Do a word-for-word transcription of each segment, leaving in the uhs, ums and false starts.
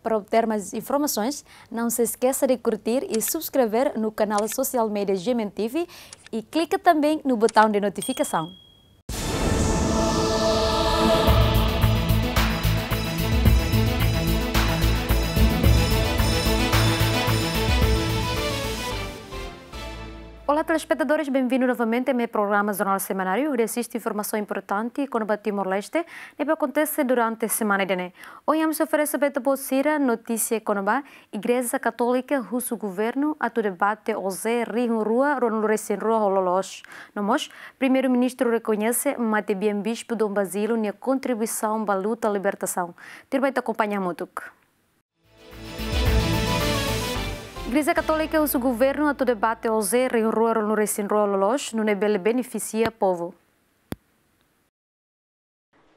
Para obter mais informações, não se esqueça de curtir e subscrever no canal social media G M N T V e clica também no botão de notificação. Olá, telespetadores, bem-vindo novamente ao meu programa Jornal Semanário, hodi asiste informasaun importante kona-ba Timor-Leste ne'ebé akontese durante semana ida-ne'e. Ohin ami sei oferese ba ita-boot sira notísia kona-ba Igreja Katólika husu governu atu debate OJE rihun rua ruanulu-resin-rua ho loloos. No mós, Primeiru-Ministru rekoñese matebian Bispu Dom Basílio nia kontribuisaun ba luta libertasaun. Tuirmai ita akompaña hamutuk. Igreja Katólika husu governu atu debate OJE rihun rua ruanulu-resin-rua ho loloos, nune'e bele benefisia povu.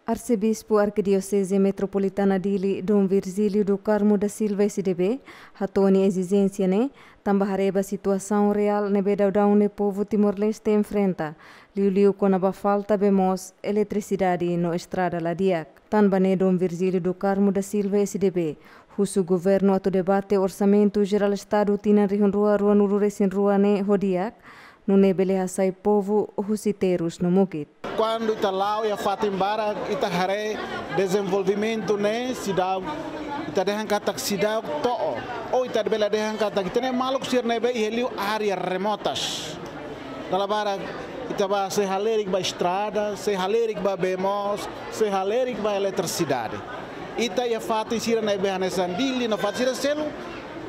Arsebispu Arkidioseze Metropolitana Dili, Dom Virgílio do Carmo da Silva, S D B, hato'o nia ezijénsia ne'e tanba haree ba situasaun reál ne'ebé daudaun ne'e povu Timor-Leste enfrenta, liuliu kona-ba falta bee moos, eletrisidade no estrada la di'ak. Tanba ne'e Dom Virgílio do Carmo da Silva, S D B, husu governu atu debate Orsamentu Jerál Estadu tinan rihun rua ruanulu-resin-rua ne'e ho di'ak, nune'e bele hasai povu husi terus no mukit. Kuandu ita la'o iha fatin barak, ita haree dezenvolvimentu ne'e seidauk, ita dehan katak seidauk to'o. Ou ita bele dehan katak ita-nia maluk sira ne'ebé iha liu área remotas. Dala barak ita bá sei halerik ba estrada, sei halerik ba bee moos, sei halerik ba eletrisidade. Ita iha fatin sira ne'ebé hanesan Dili no fatin sira seluk,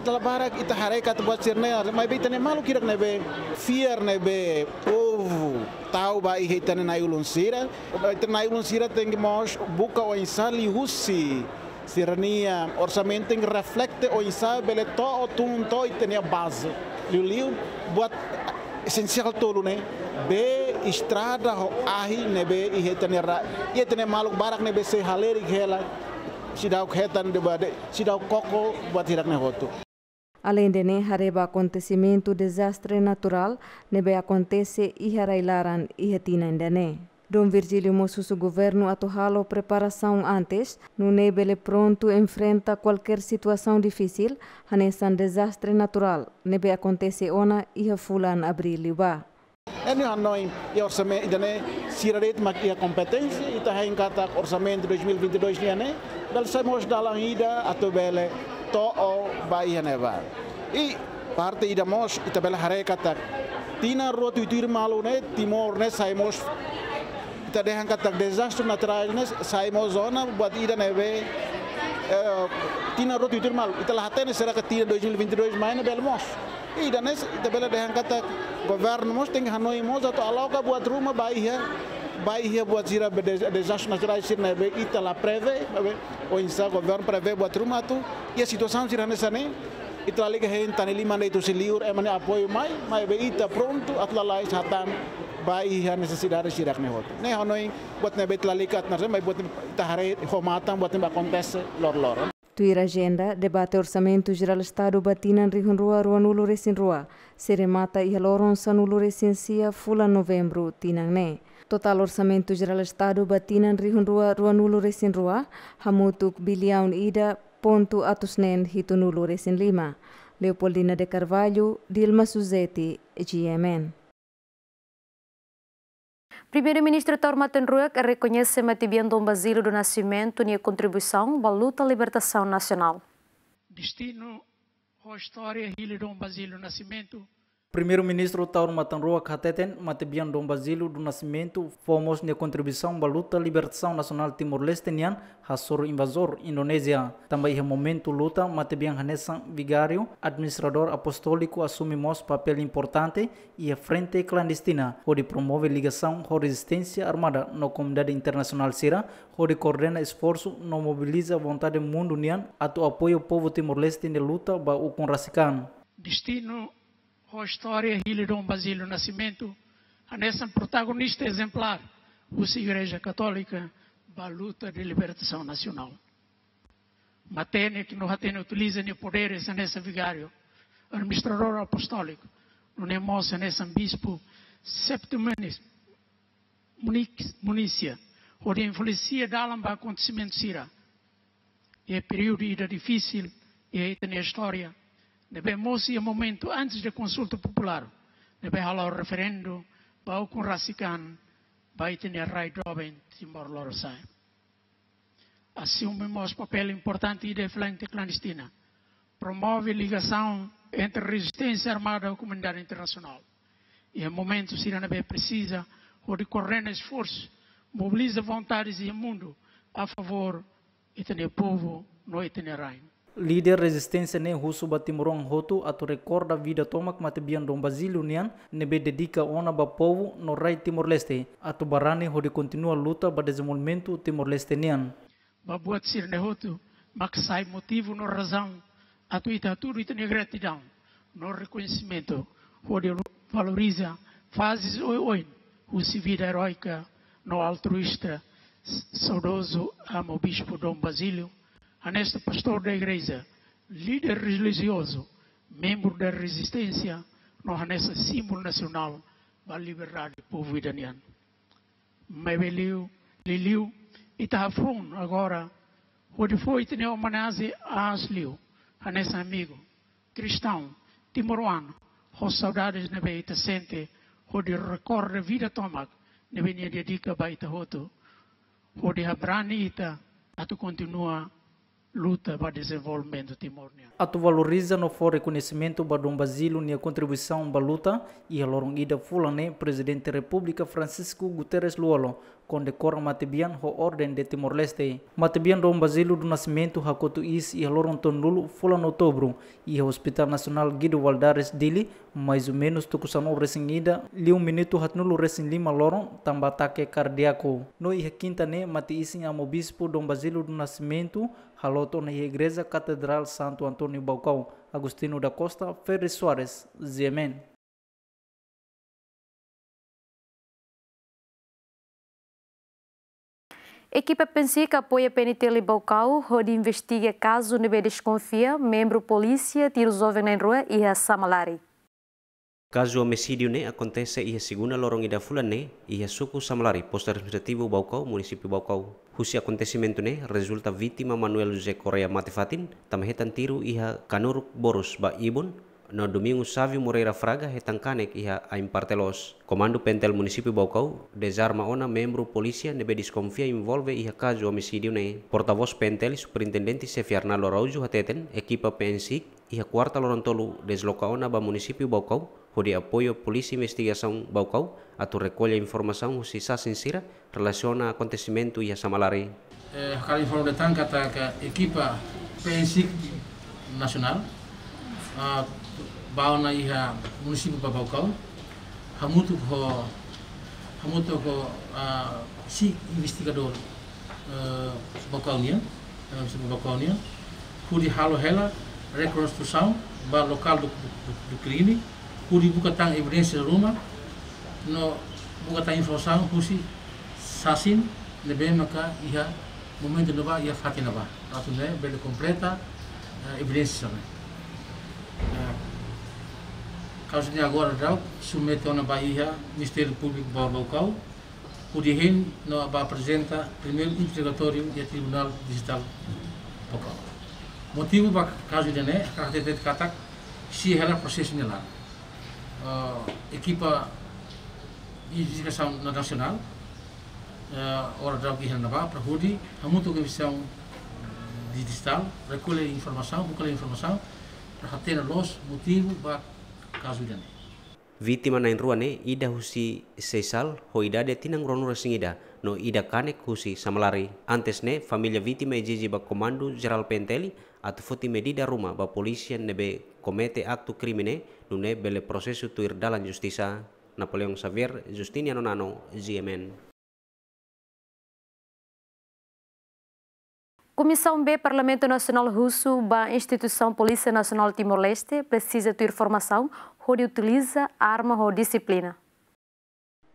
dala barak ita haree katak buat sira-ne'e, maibé ita-nia maluk hirak ne'ebé fiar ne'ebé povu tau ba iha ita-nia na'i-ulun sira. Ita-nia na'i-ulun sira tenke mós buka oinsá liuhusi sira-nia orsamentu tenke reflete oinsá bele to'o tun to'o ita-nia baze. Liuliu buat esensiál tolu ne'e, bee, estrada ho ahi ne'ebé iha ita-nia ra-, iha ita-nia maluk barak ne'ebé sei halerik hela, seidauk hetan debate, seidauk koko buat hirak-ne'e hotu. Aleinde ne'e, haree ba akontesimentu dezastre naturál ne'ebé akontese iha rai-laran iha tinan ida-ne'e. Dom Virgílio mós husu governu atu halo preparasaun antes, nune'e bele prontu enfrenta kualkér situasaun difisil, hanesan dezastre naturál ne'ebé akontese ona iha fulan Abríl liubá. Ita hanoin, iha orsamentu ida-ne'e, sira de'it mak iha kompeténsia, ita hein katak orsamentu dois mil e vinte e dois nian ne'e, bele sai mós dalan ida atu bele to'o ba iha ne'ebá. I parte ida mós, ita bele haree katak tinan rua tuir-tuir malu ne'e, Timor ne'e sai mós, ita dehan katak dezastre naturál ne'e sai mós zona buat ida ne'ebé, eh, tinan rua tuir-tuir malu. Ita la hatene será que tinan dois mil e vinte e dois mai ne'e bele mós. Ida-ne'e ita bele dehan katak governu mós tenke hanoin mós atu aloka buat ruma ba iha, ba iha buat sira be de-, dezastre naturál sira ne'ebé ita la prevee, maibé oinsá governu prevee buat ruma atu iha situasaun sira hanesan ne'e, ita lalika hein tan ne'e liman de'it husi liur, ema nia apoiu mai, maibé ita prontu atu lalais hatán ba iha nesesidade sira-ne'e hotu. Ne'e hanoin buat ne'ebé ita lalika atu naran, maibé buat ita haree ho matan buat ne'ebé akontese loroloron. Tuir ajenda, debate Orsamentu Jerál Estadu ba tinan rihun rua ruanulu-resin-rua sei remata iha loron sanulu-resin-sia fulan Novembru tinan ne'e. Totál Orsamentu Jerál Estadu ba tinan rihun rua ruanulu-resin-rua hamutuk biliaun ida pontu atus neen hitunulu-resin-lima. Leopoldina de Carvalho, Dilma Suzeti, G M N. Primeiru-Ministru Taur Matan Ruak rekoñese matebian Dom Basílio do Nascimento nia kontribuisaun ba luta libertasaun nasionál. Destinu ho istória hili Dom Basílio Nascimento. Primeiru-Ministru Taur Matan Ruak hateten matebian Dom Basílio do Nascimento fó mós nia kontribuisaun ba luta libertasaun nasionál Timor-Leste nian hasoru invazór Indonézia. Tanba iha momentu luta, matebian hanesan vigáriu, administradór apostóliku asume mós papél importante iha frente klandestina, hodi promove ligasaun ho rezisténsia armada no komunidade internasionál sira, hodi koordena esforsu no mobiliza vontade mundu nian atu apoiu povu Timor-Leste nia luta ba ukun rasik an. Destinu ho istória hili Dom Basílio Nascimento hanesan protagonista ezemplár husi Igreja Katólika ba luta de libertasaun nasionál. Matenek no hatene utiliza nia podér hanesan vigáriu, administradór apostóliku, nune'e mós hanesan bispu septimanis, munis-, munisia, hodi influensia dalan ba akontesimentu sira. iha períodu ida difisil iha ita-nia istória, ne'ebé mós iha momentu antes de konsulta populár, ne'ebé hala'o referendu ba ukun rasik an ba ita-nia rai doben Timor Lorosa'e. Asume mós papél importante iha frente klandestina, promove ligasaun entre rezisténsia armada ho komunidade internasionál. Iha momentu sira ne'ebé presiza, hodi koordena esforsu, mobiliza vontades iha mundu a favór ita-nia povu no ita-nia rai. Líder rezisténsia ne'e husu ba timoroan hotu atu rekorda vida tomak matebian Dom Basílio nian, ne'ebé dedika ona ba povu no rai Timor-Leste, atu barani hodi kontinua luta ba dezenvolvimentu Timor-Leste nian. Ba buat sira-ne'e hotu mak sai motivu no razaun atu ita hatudu ita-nia gratidaun no rekoñesimentu hodi valoriza faze oioin husi vida eróika no altruísta saudozu Amu Bispu Dom Basílio, hanesan pastór da igreja, líder relijiozu, membru da rezisténsia, no hanesan símbolu nasionál ba liberdade povu ida nian. Maibé liu, liuliu, ita hafoun agora hodi fó ita-nia omenajen aas liu, hanesan amigu kristaun timoroan, ho saudades ne'ebé ita sente, hodi rekorda vida tomak ne'ebé nia dedika ba ita hotu, hodi habrani ita atu kontinua luta ba dezenvolvimentu Timor nian. Atu valoriza no fó rekoñesimentu ba Dom Basílio nia kontribuisaun ba luta, iha loron ida fulan ne'e Prezidente Repúblika Francisco Guterres Lú-Olo kondekora matebian ho Orden de Timor-Leste. Matebian Dom Basílio do Nascimento hakotu iis iha loron tolunulu fulan Outubru, iha Hospital Nasionál Guido Valadares Dili, mais ou menus tuku sanulu-resin-ida, liu minutu haatnulu-resin-lima loron, tanba atake kardíaku. No iha kinta ne'e, mate-isin Amu Bispu Dom Basílio do Nascimento haloot ona iha Igreja Katedrál Santo António Baucau. Agostinho da Costa, Ferri Soares, G M N. Ekipa PNCIC apoia P N T L Baucau hodi investiga kazu ne'ebé deskonfia membru polísia tiru joven na'in-rua iha Samalari. Kazu omisídiu ne'e akontese iha segunda loron ida fulan ne'e, iha suku Samalari, Postu Administrativu Baucau, Munisípiu Baucau. Husi akontesimentu ne'e, rezulta vítima Manuel José Correia mate fatin, tanba hetan tiru iha kanuruk borus ba ibun, no Domingo Sávio Moreira Fraga hetan kanek iha ain parte loos. Komandu P N T L Munisípiu Baucau dezarma ona membru polísia ne'ebé deskonfia envolve iha kazu omisídiu ne'e. Portavós P N T L, Superintendente Xefe Arnaldo Araújo hateten, ekipa PNCIC iha kuarta loron tolu dezloka ona ba Munisípiu Baucau, hodi apoiu Polísia Investigasaun Baucau atu rekolla informasaun husi sasin sira relasiona akontesimentu iha Samalari. Eh, hakarak informa de'it katak ekipa PNCIC nasionál, ah, bá ona iha munisípiu ba Baucau, hamutuk ho, hamutuk ho, ah, si investigadór, eh, Baucau nian, eh, munisípiu Baucau nian, hodi halo hela rekonstrusaun ba lokál do, do, do krime, hodi buka tan evidénsia ruma, no buka tan informasaun husi sasin ne'ebé maka iha momentu ne'ebá, iha fatin ne'ebá. Atu nune'e bele kompleta, eh, evidénsia ne'e. Eh, kazu ne'e agora daudaun submete ona ba iha Ministériu Públiku ba Baucau, hodi hein no ba aprezenta primeiru interrogatóriu iha Tribunál Distritál Baucau. Motivu ba kazu ida-ne'e, hakarak hatete katak, simu hela prosesu ne'e laran. Eh, ekipa investigasaun nasionál, eh, agora daudaun iha ne'ebá, para hodi hamutuk ho investigasaun distritál, rekolla informasaun, buka hela informasaun, para hatene loos motivu ba kazu ida-ne'e. Vítima na'in-rua ne'e, ida husi Seisal, ho idade tinan ruanulu-resin-ida, no ida kanek husi Samalari. Antes ne'e, família vítima ezije ba Komandu Jerál P N T L atu foti medida ruma ba polísia ne'ebé komete aktu krime ne'e, nune'e bele prosesu tuir dalan justisa. Napoleão Xavier, Justiniano Nano, G M N. Komisaun B Parlamentu Nasionál husu ba instituisaun Polísia Nasionál Timor-Leste presiza tuir formasaun hodi utiliza arma ho dixiplina.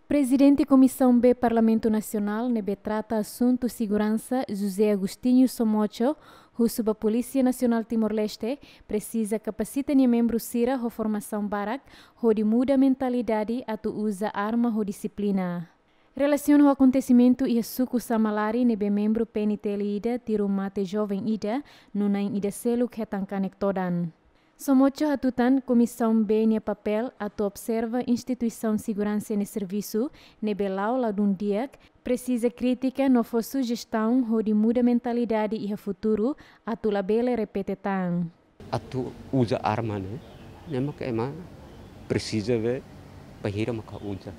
Prezidente Komisaun B Parlamentu Nasionál ne'ebé trata asuntu seguransa, José Agostinho Somocho, husu ba Polísia Nasionál Timor-Leste presiza kapasita nia membru sira ho formasaun barak hodi muda mentalidade atu uza arma ho dixiplina. Relasiona ho akontesimentu iha suku Samalari ne'ebé membru P N T L ida tiru mate joven ida no na'in ida seluk hetan kanek todan. Somocho hatutan Komisaun B nia papél atu observa instituisaun seguransa nia servisu ne'ebé la'o ladún di'ak, presiza kritika no fó sujestaun hodi muda mentalidade iha futuru atu labele repete tan. Atu uza arma ne'e, ne'e maka ema presiza ver bainhira maka uza.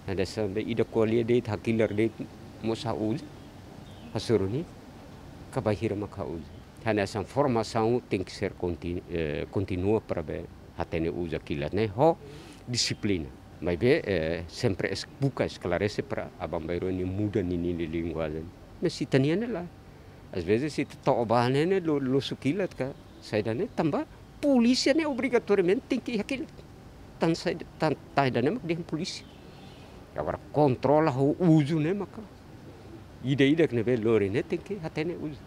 Hanesan be ida ko'alia de'it, hakilar de'it, mós ha'u uza, hasoru nia, ka bainhira maka uza. Hanesan formasaun tenke ser kontin-, eh, kontinua para be hatene uza kilat ne'e ho dixiplina. Maibé, eh, sempre es-, buka esklarese para aban-bainrua nia muda ninia linguajen. Mas ita-nian ne'e lae. Às vezes ita to'o ba ne'e, ne'e lo-, losu kilat ka saida ne'e, tanba polísia ne'e obrigatoriamente tenke iha kilat. Tan saida, tan, tan saida ne'e mak dehan polísia. Agora kontrola ho uzu ne'e maka ida-idak ne'ebé lori ne'e tenke hatene uza.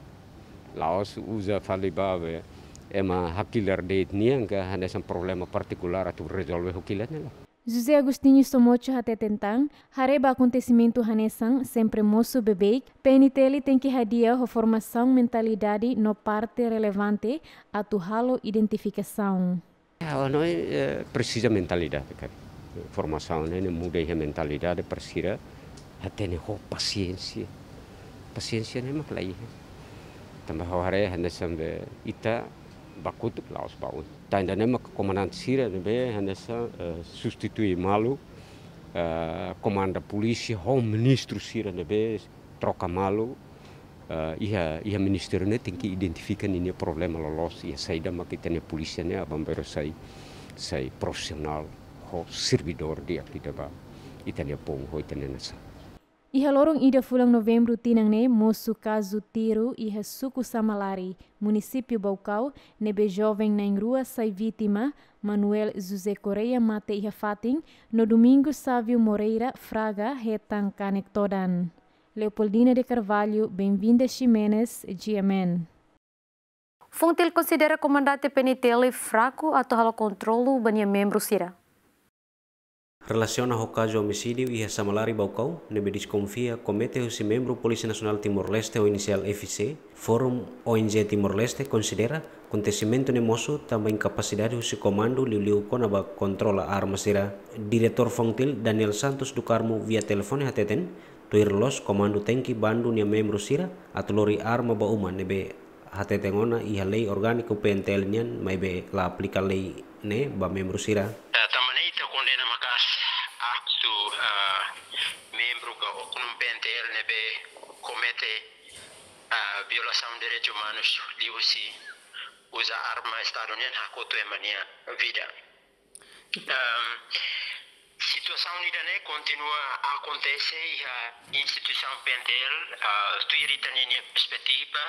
La'ós uza fali ba be ema hakilar de'it nian ka hanesan problema partikulár atu rezolve ho kilat ne'e lae. José Agostinho Somocho hateten tan, haree ba akontesimentu hanesan sempre mosu beibeik, P N T L tenke hadi'a ho formasaun mentalidade no parte relevante atu halo identifikasaun. Ya, no, eh, presiza mentalidade, kan. Formasaun ne'e, ne'e muda iha mentalidade para sira hatene ho pasiénsia. Pasiénsia ne'e mak la iha. Tanba ha'u haree hanesan be ita ba kotuk la'ós ba un. Tan ida-ne'e mak komandante sira ne'ebé hanesan, eh, substitui malu, eh, komanda polísia ho ministru sira ne'ebé troka malu, eh, iha, iha ministériu ne'e tenke identifika ninia problema loloos, iha saida mak ita-nia polísia ne'e aban-bainrua sai, sai profisionál ho servidór di'ak ida ba ita-nia povu ho ita-nia nasaun. Iha loron ida fulan Novembru tinan ne'e mosu kazu tiru iha suku Samalari, munisípiu Baucau, ne'ebé joven na'in-rua sai vítima, Manuel José Correia mate iha fatin, no Domingos Sávio Moreira Fraga hetan kanek todan. Leopoldina de Carvalho, Benvinda Ximenes, G M N. FONGTIL konsidera komandante P N T L fraku atu halo kontrolu ba nia membru sira. Relasiona ho kazu omisídiu iha Samalari Baucau, ne'ebé deskonfia komete husi membru Polísia Nasionál Timor-Leste ho inisiál F C, Fórum O N G Timor-Leste konsidera akontesimentu ne'e mosu tanba inkapasidade husi komandu liuliu kona-ba kontrola arma sira. Diretór FONGTIL, Daniel Santos do Carmo, via telefone hateten, tuir loos komandu tenke bandu nia membru sira atu lori arma ba uma ne'ebé hateten ona iha lei orgániku P N T L nian, maibé la aplika lei ne'e ba membru sira. Eh, tanba ne'e ita kondena maka'as aktu, eh, membru ka oknum P N T L ne'ebé komete, eh, violasaun direitus umanus liuhusi uza arma Estadu nian hakotu ema nia vida. Ehm, situasaun ida-ne'e kontinua akontese iha instituisaun P N T L, ah, tuir ita-nia perspetiva,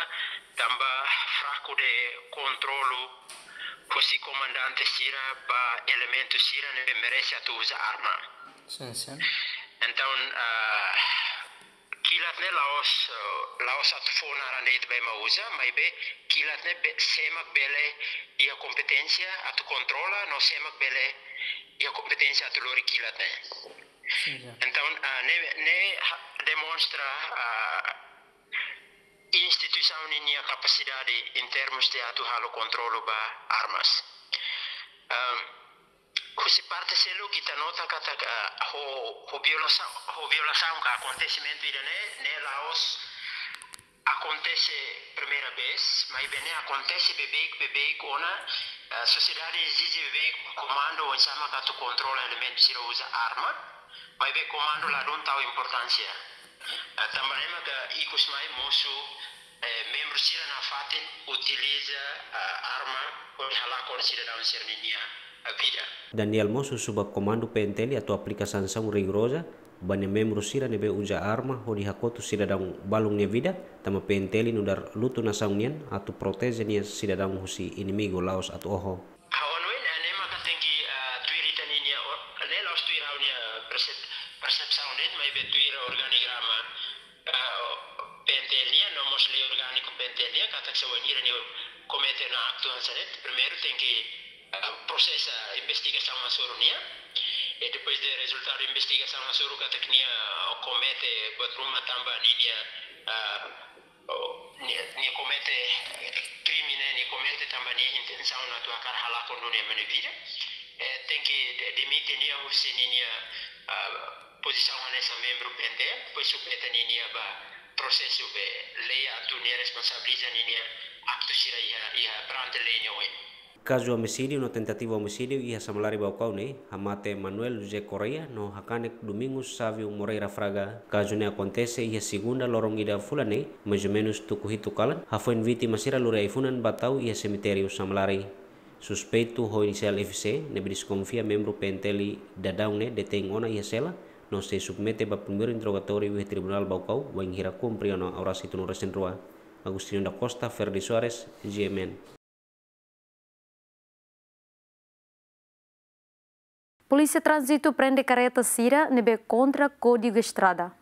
tanba fraku de kontrolu husi komandante sira ba elementu sira ne'ebé merese atu uza arma. Sin, sin. Entaun, ah, kilat ne'e la'ós, eh, la'ós atu fó naran de'it ba ema uza, maibé kilat ne'e be-, sé mak bele iha kompeténsia atu kontrola, no sé mak bele iha kompeténsia atu lori kilat ne'e. Sin, sin. Entaun, ah, ne'e, ne'e ha-, demonstra, ah, instituisaun ninia kapasidade em termos de atu halo kontrolu ba armas. Ahm, husi parte seluk ita nota katak, ah, ho, ho violasaun, ho violasaun ka akontesimentu ida-ne'e, ne'e la'ós akontese primeira vez, maibé ne'e akontese beibeik, beibeik ona, ah, sosiedade ezije beibeik komandu oinsá mak atu kontrola elementu sira uza arma, maibé komandu ladún tau importánsia. Ah, tanba ne'e maka ikus mai mosu, eh, membru sira nafatin utiliza, ah, arma hodi halakon sidadaun sira-ninia, ah, vida. Daniel mós husu ba komandu P N T L atu aplika sansaun rigoroza ba nia membru sira ne'ebé uza arma hodi hakotu sidadaun balun nia vida, tanba P N T L nu'udar lutu nasaun nian atu proteje nia sidadaun husi inimigu la'ós atu oho. Ha'u hanoin, eh, ne'e maka tenke, eh, tuir ita-ninia or-, ne'e la'ós tuir ha'u-nia persep-, persepsaun de'it, maibé tuir organigrama, eh, P N T L nian, no mós lei orgániku P N T L nian, katak se wainhira nia komete ona aktu hanesan ne'e, primeiru tenke, eh, prosesa investigasaun hasoru nia. E depois de rezultadu investigasaun hasoru katak nia komete buat ruma tanba ninia, ah, oh, nia, nia komete krime ne'e, nia komete tanba nia intensaun atu hakarak halakon duni ema nia vida. Eh, tenke de-, demite nia husi ninia, ah, pozisaun hanesan membru P N T L, depois submete ninia ba prosesu be lei atu nia responsabiliza ninia aktu sira iha, iha perante lei nia oin. Kazu omisídiu no tentativa omisídiu iha Samalari Baucau ne'e, hamate Manuel José Correia no hakanek Domingos Sávio Moreira Fraga. Kazu ne'e akontese iha segunda loron ida fulan ne'e, mais ou menus tuku hitu kalan, hafoin vítima sira lori ai-funan ba tau iha semitériu Samalari. Suspeitu ho inisiál F C, ne'ebé deskonfia membru P N T L daudaun ne'e detein ona iha sela, no sei submete ba primeiru interrogatóriu iha Tribunál Baucau, wainhira kumpre ona oras hitunulu resin rua. Agostinho da Costa, Ferdi Soares, G M N. Polísia Tránzitu prende karreta sira ne'ebé kontra Kódigu Estrada.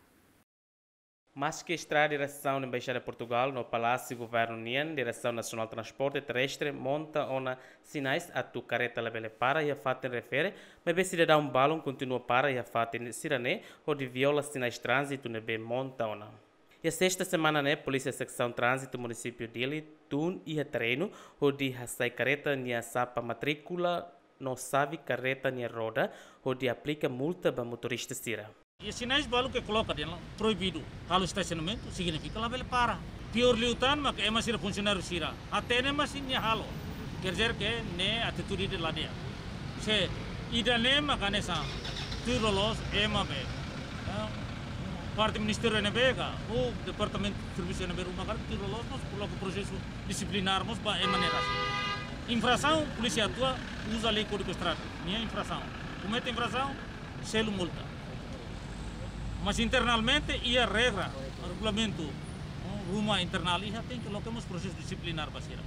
Maske estrada diresaun Embaixada Portugal no Palásiu Governu nian, Diresaun Nasionál Transporte Terrestre monta ona sinais atu karreta labele para iha fatin refere, maibé sidadaun balun kontinua para iha fatin sira-ne'e hodi viola sinais tránzitu ne'ebé monta ona. Iha sesta semana ne'e, Polísia Seksaun Tránzitu Munisípiu Dili tun iha terrenu hodi hasai karreta nia sapa matríkula no xave karreta nia roda hodi aplika multa ba motorista sira. Iha sinais balu ke koloka dehan proibidu halo estasionamentu, signifika labele para. Piór liután mak ema sira, funsionáriu sira hatene, mas nia halo. Quer dizer que ne'e atitude ida la di'ak. Se ida-ne'e mak hanesan tuir loloos ema be, eh, parte ministériu ne'ebé ka, ou departamentu servisu ne'ebé ruma karik tuir loloos, mós koloka prosesu disiplinár mós ba ema ne'e rasik. Infrasaun, polísia atua, uza lei Kódigu Estrada, nia infrasaun. Komete infrasaun, selu multa. Mas internamente iha regra, regulamentu, oh, ruma internál iha, tenke loke mós prosesu disiplinár ba sira.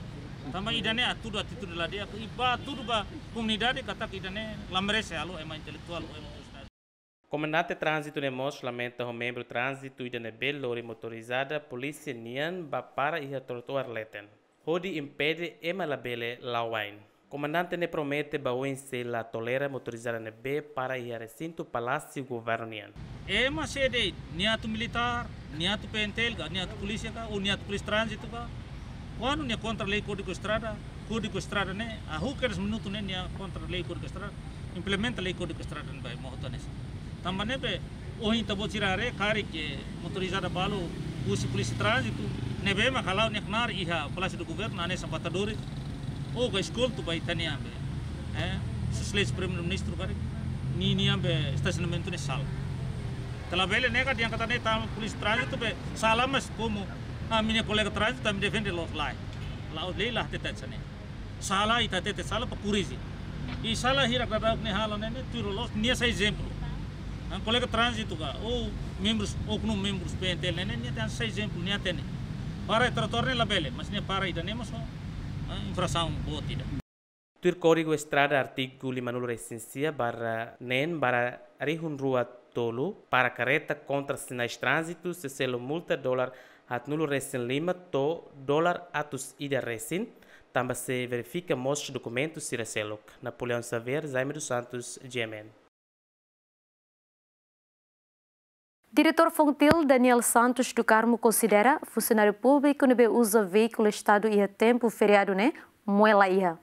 Tanba ida-ne'e hatudu atitude la di'ak, i ba hatudu ba komunidade katak ida-ne'e la merese halo ema intelektuál ou ema universitáriu. Komandante tránzitu ne'e mós lamenta ho membru tránzitu ida ne'ebé lori motorizada polísia nian ba para iha trotoar leten, hodi impede ema labele la'o wa'in. Komandante ne'e promete ba oin sei la tolera motorizada ne'ebé para iha resintu Palásiu Governu nian. Ema sé de'it, nia atu militár, nia atu P N T L ka, nia atu polísia ka, ou nia atu polísia tránzitu ka, kuandu nia kontra lei Kódigu Estrada, Kódigu Estrada ne'e, ah, who cares minutu ne'e nia kontra lei Kódigu Estrada, implementa lei Kódigu Estrada ne'e ba moto hanesan. Tanba ne'ebé, ohin ita-boot sira haree, karik motorizada balu husi polísia tránzitu ne'ebé mak hala'o nia knaar iha Palásiu do Governu, hanesan Matadores, ou ka eskoltu ba ita-nia be, eh, Sua Exelénsia Primeiru-Ministru karik, ninia be estasionamentu ne'e sala. Ita labele nega dehan katak ne'e tanba polísia tránzitu be sala, mas komu ami-nia kolega tránzitu, ami defende loos, lae. La'ós lei la hatete hanesan ne'e. Sala ita hatete sala para korrije. I sala hirak daudauk nia halo ne'e, ne'e tuir loloos nia sai ezemplu. An kolega tránzitu ka, ou membrus, ou oknum membrus P N T L ne'e, ne'e nia tenke sai ezemplu, nia hatene. Para trotoar ne'e labele, mas nia para ida-ne'e mós, ah, infrasaun boot ida. Tuir Kódigu Estrada artigu limanulu resin sia barra neen barra rihun rua tolu, para karreta kontra sinais tránzitu sei selu multa dolar haatnulu resin lima to'o dolar atus ida resin, tanba sei verifika mós dokumentu sira seluk. Napoleão Xavier, Jaime dos Santos, G M N. Diretór Fontil, Daniel Santos do Carmo, konsidera funsionáriu públiku ne'ebé uza veíkulu Estadu iha tempu feriadu ne'e moe la iha.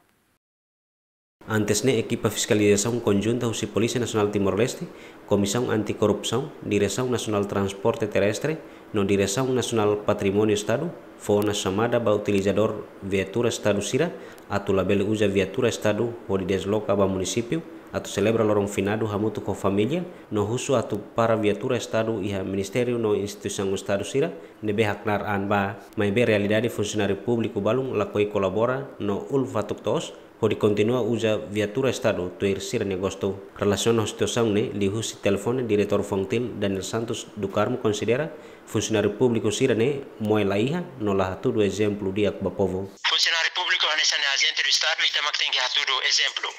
Antes ne'e, ekipa fiskalizasaun konjunta husi Polísia Nasionál Timor-Leste, Komisaun Anti-Korrupsaun, Diresaun Nasionál Transporte Terrestre, no Diresaun Nasionál Patrimóniu Estadu, fó ona xamada ba utilizadór viatura Estadu sira atu labele uza viatura Estadu hodi desloka ba munisípiu atu selebra loron finadu hamutuk ho família, no husu atu para viatura Estadu iha ministériu no instituisaun Estadu sira ne'ebé haknaar an ba. Maibé realidade funsionáriu públiku balun lakohi kolabora no ulun fatuk toos hodi kontinua uza viatura Estadu tuir sira-nia gostu. Relasiona ho situasaun ne'e, liuhusi telefone, Diretór Fontil, Daniel Santos do Carmo, konsidera funsionáriu públiku sira-ne'e moe la iha no la hatudu ezemplu di'ak ba povu. Funsionáriu públiku hanesan ajente do Estadu, ita mak tenke hatudu ezemplu.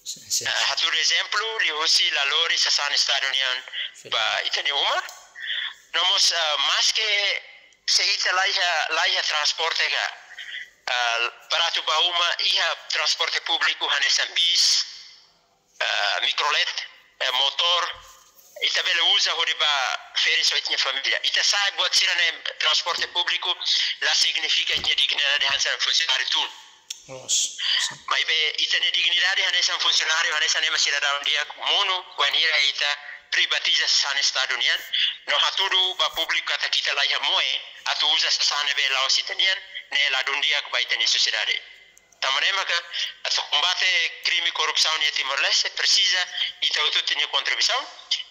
Sin, sin. Ah, hatudu ezemplu, liuhusi la lori sasán Estadu nian, sin, ba ita-nia uma. No mós, ah, maske se ita la iha, la iha transporte ka, ah, baratu ba uma, iha transporte públiku hanesan bis, ah, mikrolet, eh, motór, ita bele uza hodi bá férias ho ita-nia família. Ita sa'e buat sira-ne'e, transporte públiku la signifika ita-nia dignidade hanesan funsionáriu tun. Loos. Sin. Maibé ita-nia dignidade hanesan funsionáriu, hanesan ema sidadaun di'ak monu, wainhira ita privatiza sasán Estadu nian, no hatudu ba públiku katak ita laiha moe atu uza sasán ne'ebé la'ós ita-nian, ne'e ladún di'ak ba ita-nia sosiedade. Tanba ne'e maka, atu kombate krime korrupsaun iha Timor-Leste, presiza ita hotu-hotu nia kontribuisaun,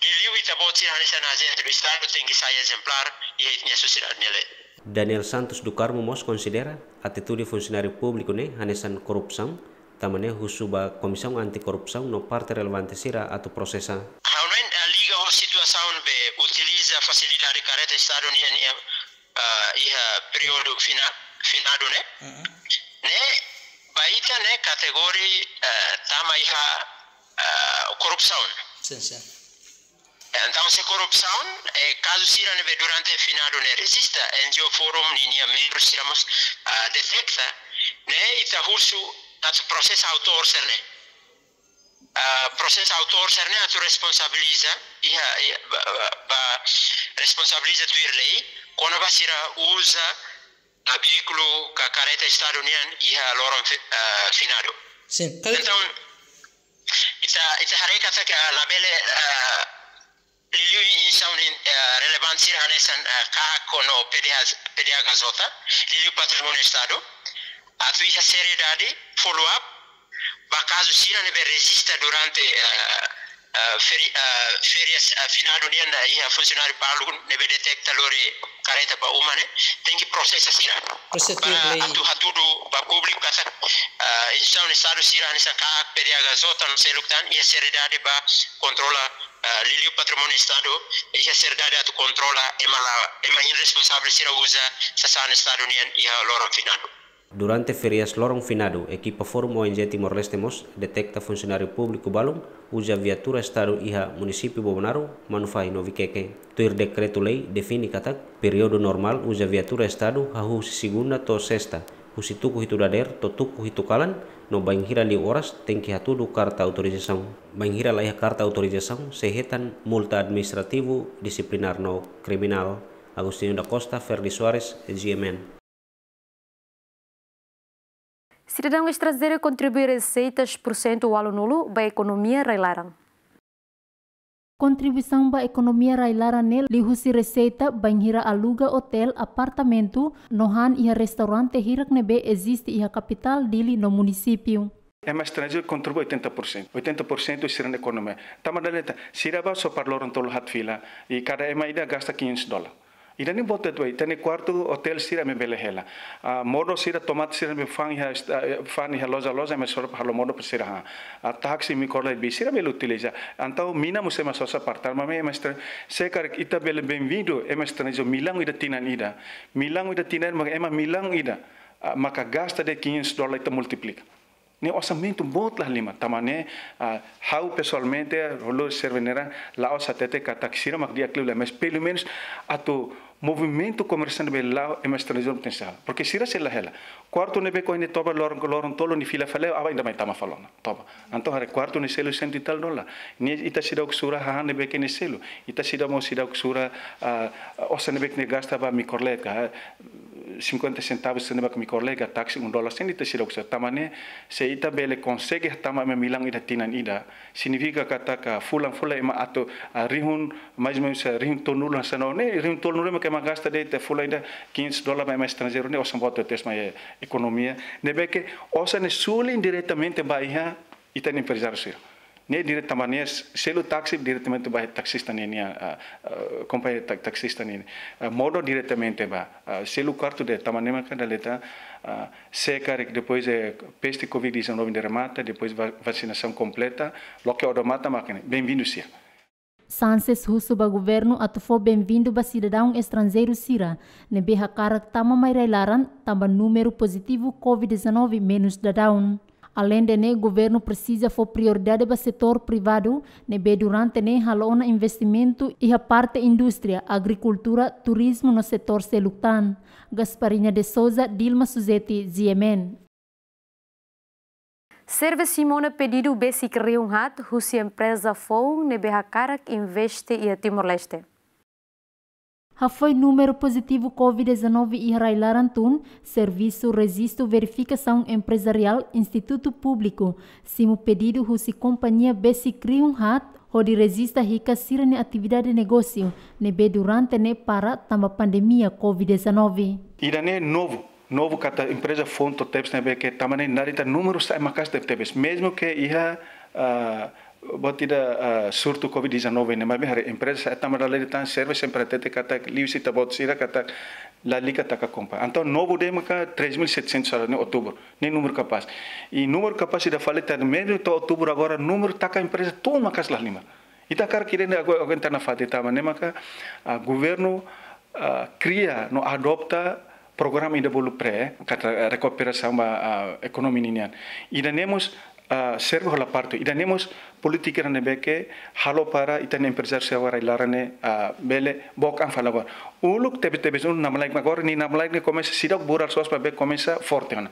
liuliu ita-boot sira hanesan ajente do Estadu tenke sai ezemplár iha ita-nia sosiedade nia leet. Daniel Santos do Carmo mós konsidera atitude funsionáriu públiku ne'e hanesan korrupsaun, tanba ne'e husu ba Komisaun Anti-Korrupsaun no parte relevante sira atu prosesa. Ha'u hanoin, eh, liga ho situasaun be utiliza fasilidade karreta Estadu nian, nian, ah, iha períodu fina-, finadu ne'e. Mm-mm. Ne'e, ba ita ne'e kategoria, eh, tama iha, eh, korrupsaun. Sin, sin. Entaun, se korrupsaun, eh, kazu sira ne'ebé durante finadu ne'e rejista, N G O Forum ninia membru sira mós, ah, detekta, ne'e ita husu atu prosesa autór sira-ne'e. Ah, prosesa autór sira-ne'e atu responsabiliza, iha, iha, ba, ba, ba responsabiliza tuir lei, kona-ba sira uza, ah, veíkulu ka karreta Estadu nian iha loron fi-, ah, finadu. Sin, kal- Entaun, ita, ita haree katak labele, ah, liuliu instituisaun, eh, relevante sira hanesan, eh, KAK no P D H, P D H K J, liuliu patrimóniu Estadu, atu iha seriedade, follow up ba kazu sira ne'ebé rejista durante, eh, eh, feri-, eh, férias, eh, finadu nian, eh, iha funsionáriu balu ne'ebé detekta lori karreta ba uma ne'e, tenke prosesa sira. Prosesa ba lei. Atu hatudu ba públiku katak, eh, instituisaun Estadu sira hanesan KAK, P D H K J no seluk tan iha seriedade ba kontrola, ah, liuliu patrimóniu Estadu, iha seriedade atu kontrola ema la, ema irresponsavel sira uza sasán Estadu nian iha loron finadu. Durante férias loron finadu, ekipa Forum O N G Timor-Leste mós detekta funsionáriu públiku balun uza viatura Estadu iha munisípiu Bobonaro, Manufahi no Viqueque. Tuir dekretu-lei define katak períodu normál uza viatura Estadu hahú husi segunda to'o sesta, husi tuku hitu dadeer to'o tuku hitu kalan, no bainhira liu oras tenke hatudu karta autorizasaun. Bainhira laiha karta autorizasaun, sei hetan multa administrativu, disiplinár no kriminál. Agostinho da Costa, Ferdi Soares, G M N. Sidadaun estranjeiru kontribui reseitas porsentu ualunulu ba ekonomia rai-laran. Kontribuisaun ba ekonomia rai-laran ne'e liuhusi reseita bainhira aluga otél, apartamentu, no han iha restaurante hirak ne'ebé eziste iha kapitál Dili no munisípiu. Ema estranjeiru kontribui oitenta por cento. Oitenta por cento sira-nia ekonomia. Tanba dala ida, sira bá só para loron tolu haat fila, i kada ema ida gasta quinhentos dólar. Ida-ne'e boot uitoan, ita-nia kuartu otél sira ema bele hela. Ah, modo sira, tomate sira ema fa'an iha est-, ah, fa'an iha loja-loja, ema sora para halo modo para sira han. Ah, táksi, mikroled, bis sira bele utiliza. Entaun mina mós ema sosa para tama, maibé ema estra-, se karik ita bele benvindu ema estranjeiru milhão ida tinan ida. Milhão ida tinan ida, maka ema milhão ida, ah, maka gasta de'it quinhentos dólar, ita multiplika. Ne'e orsamentu boot la halimar, tanba ne'e, ah, ha'u pesoalmente, halo serve ne'e, la'ós hatete katak sira mak di'ak liu lae, mas pelumenus atu movimentu komersiál ne'e bele la'o ema estranjeiru potensiál. Porque sira sei la hela. Kuartu ne'ebé ohin ne'e toba loron, loron tolu nia fila fali, aban ida mai tama fali ona. Toba. Entaun haree kuartu ne'e selu cento e tal dólar. Ne'e ita seidauk sura hahán ne'ebé ke ne'e selu. Ita seidauk mós seidauk sura, ah, osan ne'ebé ke ne'e gasta ba mikroled ka, cinquenta centavos sira-ne'e ba mikroled ka táksi um dólar, sei ita seidauk sura. Tanba ne'e, se ita bele konsege hatama ema milhão ida tinan ida, signifika katak fulan-fulan ema atu, ah, rihun, mais ou menus, ah, rihun tolunulu hanesan ne'e, rihun tolunulu mak ema gasta de'it fulan ida quinhentos dólar ba ema estranjeiru ne'e, osan boot tebes mai ekonomia. Ne'ebé ke osan ne'e suli indiretamente ba iha ita-nia emprezáriu sira. Ne'e direta, tanba ne'e selu táksi diretamente ba taksista nian, ah, ah, kompañia ta-, taksista nian. Ah, modo diretamente ba, ah, selu kuartu de'it, tanba ne'e maka dala ida, ah, se karik depois de peste covid dezanove ne'e remata, depois va-, vasinasaun kompleta, loke odamatan mak ne'e, benvindu sira. Sanches husu ba governu atu fó benvindu ba sidadaun estranjeiru sira ne'ebé hakarak tama mai rai-laran, tanba númeru pozitivu covid dezanove menus daudaun. Aleinde ne'e, governu presiza fó prioridade ba setór privadu ne'ebé durante ne'e halo ona investimentu iha parte indústria, agrikultura, turizmu no setór seluk tan. Gasparinha de Souza, Dilma Suzeti, G M N. Serve simu ona pedidu besik rihun haat husi empreza foun ne'ebé hakarak investe iha Timor-Leste. Hafoin númeru pozitivu covid dezanove iha rai-laran tun, Servisu Rejistu Verifikasaun Emprezariál Institutu Públiku simu pedidu husi kompañia besik rihun haat hodi rejista hikas sira-nia atividade negósiu ne'ebé durante ne'e para tanba pandemia covid dezanove. Ida-ne'e novu, novu katak empreza foun to'o tebes ne'ebé ke tanba ne'e naran ita númeru sa'e maka'as tebetebes. Mezmu ke iha, ah, buat ida, ah, surtu covid dezanove ne'e, maibé haree empreza sa'e tanba dala ida tan serve sempre hatete katak liuhusi ita-boot sira katak lalika taka kompa. Entaun novu de'it maka três mil e setecentos saláriu ne'e outubro. Ne'e númeru kapás. I númeru kapás ida fali tan mezmu to'o outubro agora númeru taka empreza tun maka'as la halimar. Ita hakarak ida-ne'e agu-, aguenta nafatin tanba ne'e maka, ah, governu, ah, kria no adota programa ida bolu PREE, katak, ah, rekuperasaun ba, ah, ekonomia ninian. Ida-ne'e mós, ah, serve hola parte. Ida-ne'e mós polítika ne'ebé ke halo para ita-nia emprezáriu sira rai-laran ne'e, ah, bele book an fali agora. Uluk tebetebes uluk namlaik agora, nia namlaik ne'e komesa seidauk buras loos para bele komesa forte ona.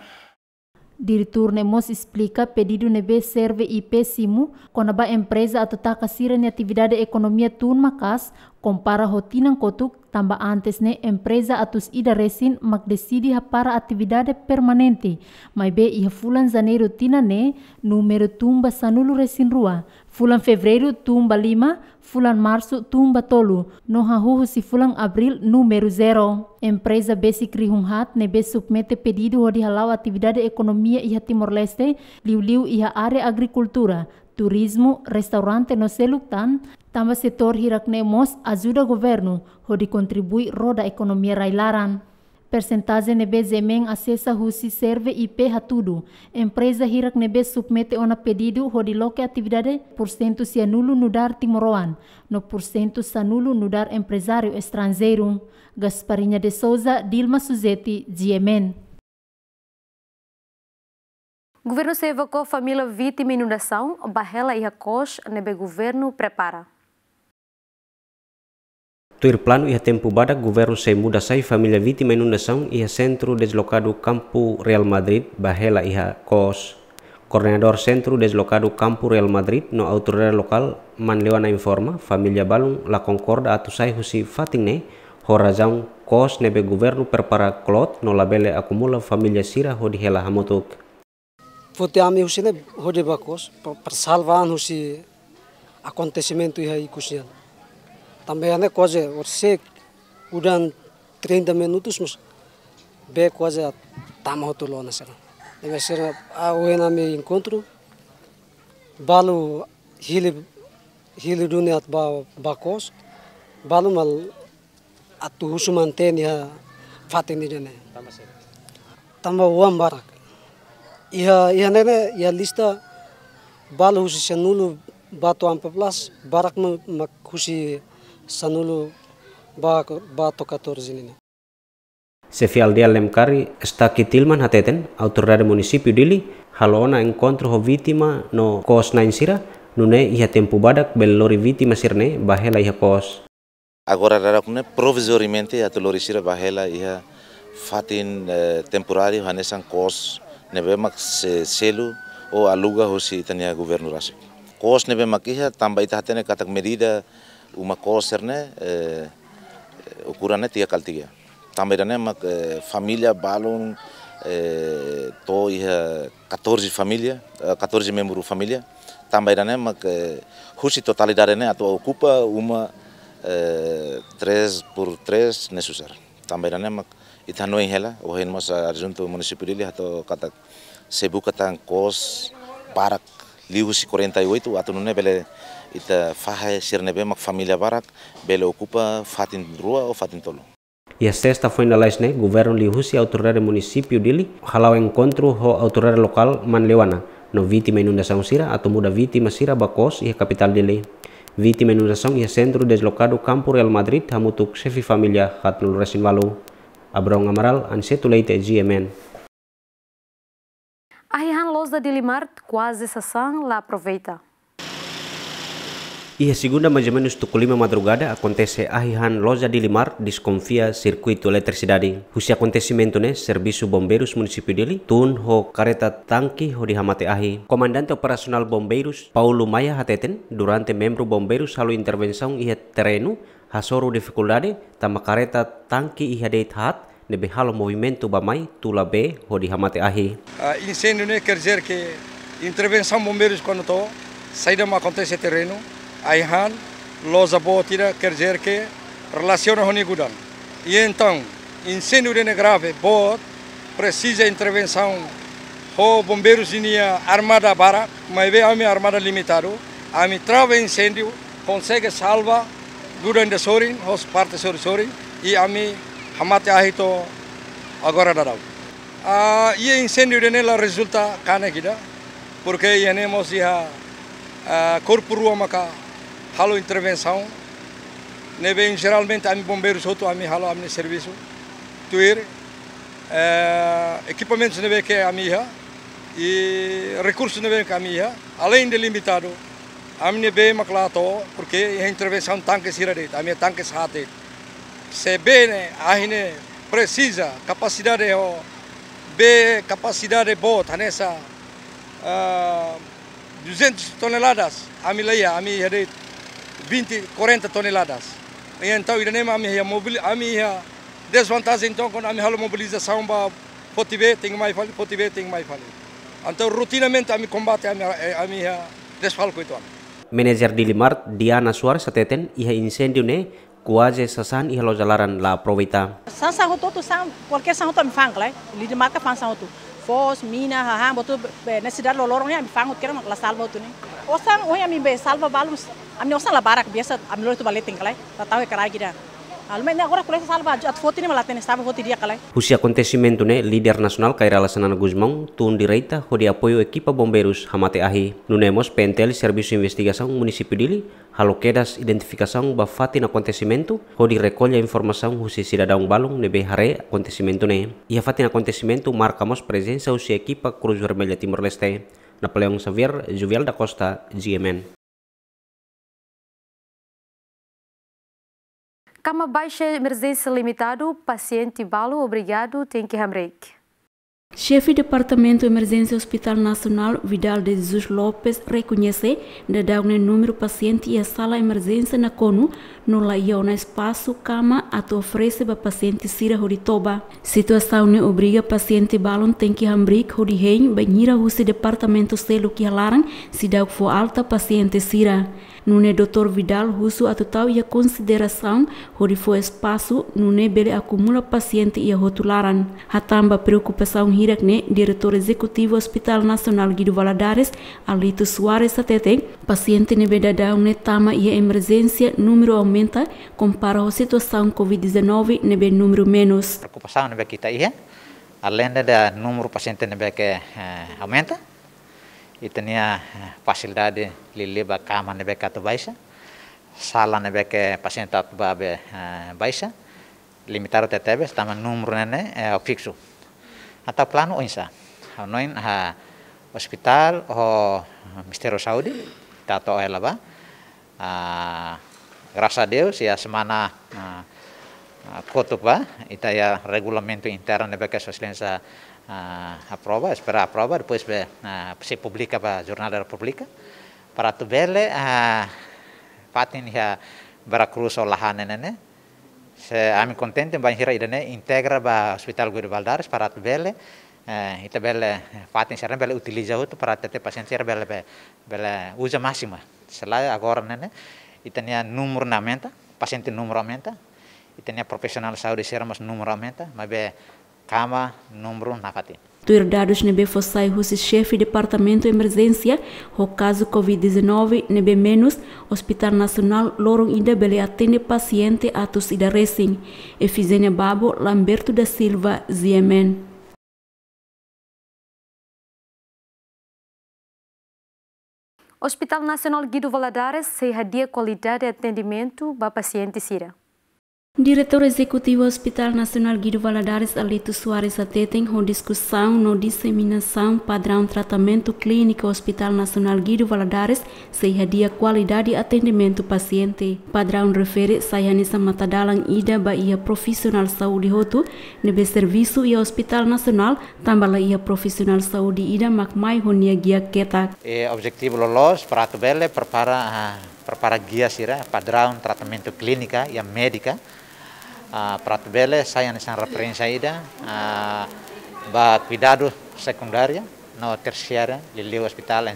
Diretór ne'e mós esplika pedidu ne'ebé serve I P simu kona-ba empreza atu taka sira-nia atividade ekonomia tun maka'as, kompara ho tinan kotuk, tanba antes ne'e empreza atus ida resin mak deside hapara atividade permanente, maibé iha fulan Janeiru tinan ne'e númeru tun ba sanulu resin rua, fulan Fevereiru tun ba lima, fulan Marsu tun ba tolu, no hahú husi fulan Abríl númeru zero. Empreza besik rihun haat ne'ebé submete pedidu hodi hala'o atividade ekonomia iha Timor-Leste, liuliu iha área agrikultura, turizmu, restaurante no seluk tan, tanba setór hirak ne'e mós ajuda governu hodi kontribui roda ekonomia rai-laran. Persentajen ne'ebé GMN asesa husi serve I P hatudu, empreza hirak ne'ebé submete ona pedidu hodi loke atividade, pursentu sianulu nu'udar timoroan, no pursentu sanulu nu'udar emprezáriu estranjeiru. Gasparinha de Souza, Dilma Suzeti, GMN. Governu sei evakua família vítima inundasaun ba hela iha kos ne'ebé governu prepara. Tuir planu iha tempu badak, governu sei muda sai família vítima inundasaun iha Sentru Deslokadu Kampu Real Madrid ba hela iha kos. Koordenadór Sentru Deslokadu Kampu Real Madrid no autoridade lokál, Manleuana informa, família balun la konkorda atu sai husi fatin ne'e, ho razaun kos ne'ebé governu prepara kloot no labele akumula família sira hodi hela hamutuk. Foti ami husi ne'e hodi ba kos, pa-, para salva an husi akontesimentu iha ikus nian. Tanba iha ne'e kuaze orsek udan trinta minutus mós bee kuaze tama hotu lona sira. Ne'ebé sira, ah, ohin ami enkontru, balu hili, hili duni atu ba, ba kos, balu malu atu husu mantein iha fatin ida-ne'e. Tanba oan barak. Iha, iha ne'e ne'e, iha lista balu husi sanulu ba to'o empat belas, barak ma-, mak husi sanulu ba, ba to'o katorze nian. Xefe aldeia Lemkari, Staki Tilman hateten, autoridade munisípiu Dili halo ona enkontru ho vítima no kos-na'in sira, nune'e iha tempu badak bele lori vítima sira-ne'e ba hela iha kos. Agora daudaun ne'e provizoriamente atu lori sira ba hela iha fatin, eh, temporáriu hanesan kos ne'ebé mak sei selu ou aluga husi ita-nia governu rasik. Kos ne'ebé mak iha tanba ita hatene katak medida uma kos sira-ne'e, eh, ukuran ne'e tiga kali tiga. Tanba ida-ne'e mak, eh, família balun, eh, to'o iha katorze família, eh, katorze membru família. Tanba ida-ne'e mak, eh, husi totalidade ne'e atu okupa uma, eh, três por três ne'e susar. Tanba ida-ne'e mak ita hanoin hela, ohin mós adjuntu munisípiu Dili hato'o katak sei buka tan kos barak liuhusi quarenta e oito atu nune'e bele ita fahe sira ne'ebé mak família barak bele okupa fatin rua ou fatin tolu. Iha sesta foin lalais ne'e, governu liuhusi autoridade munisípiu Dili hala'o enkontru ho autoridade lokál Manleuana no vítima inundasaun sira atu muda vítima sira ba kos iha kapitál Dili. Vítima inundasaun iha Sentru Deslokadu Kampu Real Madrid hamutuk xefe família haatnulu resin ualu. Abrão Amaral, Aniceto Leite, GMN. Ahi-han loja Dili Mart kuaze sasán, la aproveita. Iha segunda, mais ou menus tuku lima madrugada, akontese ahi han loja Dili Mart deskonfia sirkuitu eletrisidade. Husi akontesimentu ne'e, servisu bombeirus munisípiu Dili tun ho kareta tanki hodi hamate ahi. Komandante Operasionál Bombeirus, Paulo Maia, hateten, durante membru bombeirus halo intervensaun iha terrenu, hasoru difikuldade, tanba kareta tanki iha de'it haat, ne'ebé halo movimentu bá-mai tula bee hodi hamate ahi. Ah, inséndiu ne'e quer dizer que intervensaun bombeirus kuandu to'o, saida mak akontese terrenu, ahi han, loja boot ida, quer dizer que relasiona ho nia gudan. I entaun, inséndiu ida-ne'e grave, boot, presiza intervensaun ho bombeirus ninia armada barak, maibé ami armada limitadu, ami trava inséndiu, konsege salva gudan ida sorin, ho parte sorin-sorin, i ami hamate ahi to'o agora daudaun. Ah, iha inséndiu ida-ne'e la rezulta kanek ida, porque iha ne'e mós iha, ah, korpu rua maka halo intervensaun, ne'ebé jeralmente ami bombeirus hotu ami halo ami-nia servisu. Tuir, eh, ekipamentus ne'ebé ke ami iha, i rekursu ne'ebé ke ami iha, aleinde limitadu, ami-nia bee mak la to'o, porque iha intervensaun tanke sira de'it, ami-nia tanke haat de'it. Se bee ne'e, ahi ne'e presiza kapasidade ho, bee kapasidade boot, hanesan, ah, duzentas toneladas, ami la iha, ami iha de'it vinte, quarenta toneladas. I entaun, ida-ne'e mak ami iha mobil, ami iha dezvantajen, entaun, kuandu ami halo mobilizasaun bá foti bee, tenke mai fali, foti bee, tenke mai fali. Entaun, rotinamente ami kombate, ami, eh, ami iha desfalku uitoan. Manager Dili Mart, Diana Soares, hateten, iha inséndiu ne'e, kuaze sasán iha loja laran la aproveita. Sasán hotu-hotu, sasán, kualkér sasán hotu ami fa'an kala, eh. Dili Mart ka fa'an sasán hotu. Foos, mina, hahán, buat hotu, be, nesesidade loroloron ne'e ami fa'an hotu, kera mak la salva hotu ne'e. Osan, ohin ami bá salva balun, ami osan la barak, biasa ami lori to'o ba leten kala, eh. La tau iha karreta ida. Almen ne'e agora ko'alia salva, atu foti ne'e mak la hatene, salva foti di'ak kala, eh. Husi akontesimentu ne'e, líder nasionál Kay Rala Xanana Gusmão tun direta hodi apoiu ekipa bombeirus hamate ahi. Nune'e mós P N T L, Servisu Investigasaun Munisípiu Dili, halo kedas identifikasaun ba fatin akontesimentu, hodi rekolla informasaun husi sidadaun balun ne'ebé haree akontesimentu ne'e. Iha fatin akontesimentu marka mós prezensa husi ekipa Cruz Vermelha Timor-Leste. Napoleão Xavier, Juvial da Costa, G M N. Kama baixa emerjénsia limitadu, pasiente balu obrigadu tenke hamriik. Xefe Departamentu Emerjénsia Hospital Nasionál, Vidal de Jesus Lopes, rekoñese daudaun ne'e númeru pasiente iha sala emerjénsia nakonu, no la iha ona espasu kama atu oferese ba pasiente sira hodi toba. Situasaun ne'e obriga pasiente balun tenke hamriik hodi hein bainhira husi departamentu seluk iha laran seidauk fó alta pasiente sira. Nune'e doutór Vidal husu atu tau iha konsiderasaun hodi fó espasu nune'e bele akumula pasiente iha hotu laran. Hatán ba preokupasaun hirak ne'e, Diretór Ezekutivu Hospital Nasionál Guido Valadares, Alito Soares, hateten, pasiente ne'ebé daudaun ne'e tama iha emerjénsia númeru aumenta, kompara ho situasaun covid dezanove ne'ebé númeru menus. Preokupasaun ne'ebé ke ita iha, aleinde de númeru pasiente ne'ebé ke, eh, aumenta, ita-nia, eh, fasilidade liuliu ba kama ne'ebé ke atu baixa, sala ne'ebé ke pasiente atu bá be, eh, baixa, limitadu tebetebes, tanba númeru ne'e ne'e, eh, fiksu. Entaun planu oinsá? Ha'u hanoin, ah, ospitál ho Ministériu Saúde, ita atu oela bá. Ah, grasas a Deus, iha semana, ah, ah, kotuk bá, ita iha regulamentu internu ne'ebé ke Sua Exelénsia, ah, aprova, espera aprova, depois be, ah, sei publika ba Jornál da Repúblika, para atu bele, ah, fatin iha Vera Cruz ho Lahane ne'e ne'e, se ami kontente bainhira ida-ne'e integra ba Hospital Guido Valadares para atu bele, eh, ita bele, eh, fatin sira bele utiliza hotu para hatete pasiente sira bele, be-, bele uza másimu. Selae agora ne'e ne'e, ita-nia númeru ne'e aumenta, pasiente númeru aumenta, ita-nia profisionál saúde sira mós númeru aumenta, maibé kama númeru nafatin. Tuir dadus ne'ebé fó sai husi Xefe Departamentu Emerjénsia, ho kazu covid dezanove ne'ebé menus, Hospital Nasionál loron ida bele atende pasiente atus ida resin. Efigénia Babo, Lamberto da Silva, G M N. Hospital Nasionál Guido Valadares sei hadi'a kualidade atendimentu ba pasiente sira. Diretór Ezekutivu Hospital Nasionál Guido Valadares, Alito Soares, hateten ho diskusaun no diseminasaun padraun tratamentu klíniku Hospital Nasionál Guido Valadares sei hadi'a kualidade atendimentu pasiente. Padraun refere sai hanesan matadalan ida ba iha profisionál saúde hotu ne'ebé servisu iha Hospital Nasionál, tanba la iha profisionál saúde ida mak mai ho nia gia ketak. E objetivu loloos para atu bele prepara, ah, prepara gia sira padraun tratamentu klínika iha médika, ah, para atu bele sai hanesan referénsia ida, ah, ba kuidadu sekundária no tersiária, liuliu ospitál, eh,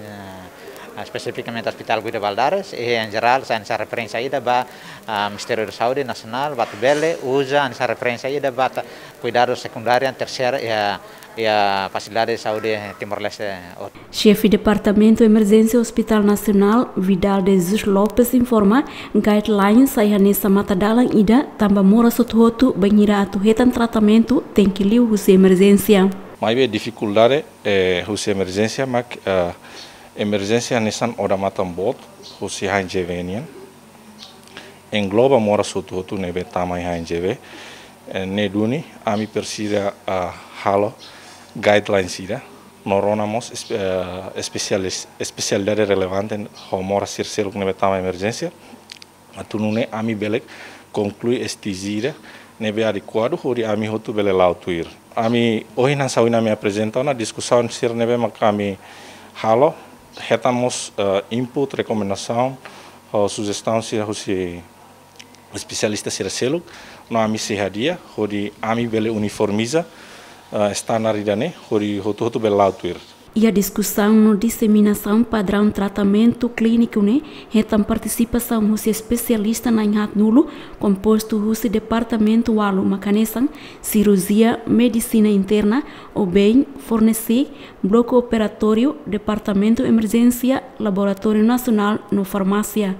espesifikamente Hospital Guido Valadares, i en jerál sai hanesan referénsia ida ba, ah, Ministériu da Saúde Nasionál, ba atu bele uza hanesan referénsia ida ba ta-, kuidadu sekundária, tersiária, iha, iha fasilidade saúde Timor-Leste hotu. Xefe Departamentu Emerjénsia Hospital Nasionál, Vidal de Jesus Lopes, informa, guidelines sai hanesan matadalan ida tanba moras hotu-hotu bainhira atu hetan tratamentu tenke liu husi emerjénsia. Maibé difikuldade, eh, husi emerjénsia mak, eh, emerjénsia hanesan odamatan boot husi H N G V nian. Engloba moras hotu-hotu ne'ebé tama iha H N G V. Eh, ne'e duni ami presiza, ah, halo guidelines ida no rona mós espe-, eh, espesialis-, espesialidade relevante ho moras sira seluk ne'ebé tama emerjénsia. Atu nune'e ami bele konklui STG ida ne'ebé adekuadu hodi ami hotu bele la'o tuir. Ami ohin hanesan ohin ami aprezenta ona diskusaun sira ne'ebé mak ami halo, hetan mós, eh, input, rekomendasaun, ho sujestaun sira husi espesialista sira seluk, no ami sei hadi'a hodi ami bele uniformiza, eh, standar ida-ne'e hodi hotu-hotu bele la'o tuir. Iha diskusaun no diseminasaun padraun tratamentu klíniku ne'e hetan partisipasaun husi espesialista na'in haatnulu, kompostu husi departamentu ualu mak hanesan sirurjia, medisina interna, obein, fornesi, bloku operatóriu, departamentu emerjénsia, laboratóriu nasionál no farmásia.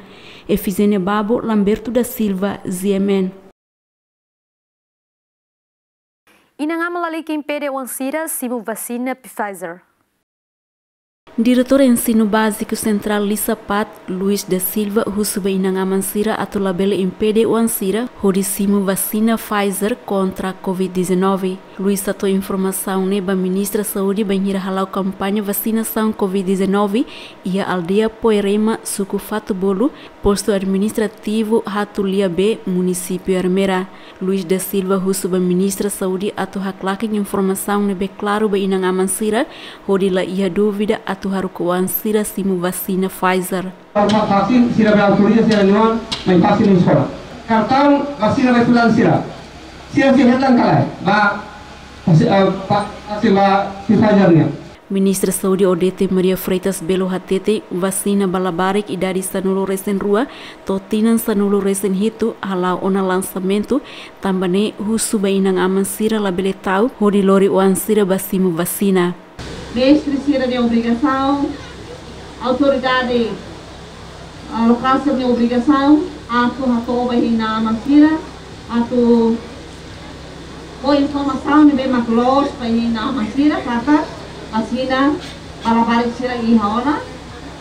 Efigénia Babo, Lamberto da Silva, G M N. Inan-aman lalika impede oan sira simu vasina Pfizer. Diretór Ensinu Báziku Sentrál Lisapat, Luis da Silva, husu ba inan-aman sira atu labele impede oan sira hodi simu vasina Pfizer kontra Covid dezanove. Luis hato'o informasaun ne'e ba Ministra Saúde bainhira hala'o kampaña vasinasaun Covid dezanove iha aldeia Poerema, suku Fatubolu, postu administrativu Hatulia B, munisípiu Ermera. Luis da Silva husu ba Ministra Saúde atu haklaken informasaun ne'ebé klaru ba inan-aman sira, hodi la iha dúvida atu haruka oan sira simu vasina Pfizer. Fasil sira bele autoriza sira-nia oan mai fasil iha eskola. Kartaun vasina ba estudante sira. Sira sei hetan ka lae ba fasil, eh, ba fasil ba Pfizer nian. Ministra Saúde Odete Maria Freitas Belo hateten, vasina ba labarik idade sanulu-resin-rua to'o tinan sanulu-resin-hitu hala'o ona lansamentu, tanba ne'e husu ba inan-aman sira labele ta'uk hodi lori oan sira ba simu vasina. Mestre sira-nia obrigasaun, autoridade, ah, lokál sira-nia obrigasaun atu hato'o ba inan-aman sira, atu fó informasaun ne'ebé mak loos ba inan-aman sira katak vasina ba labarik sira iha ona,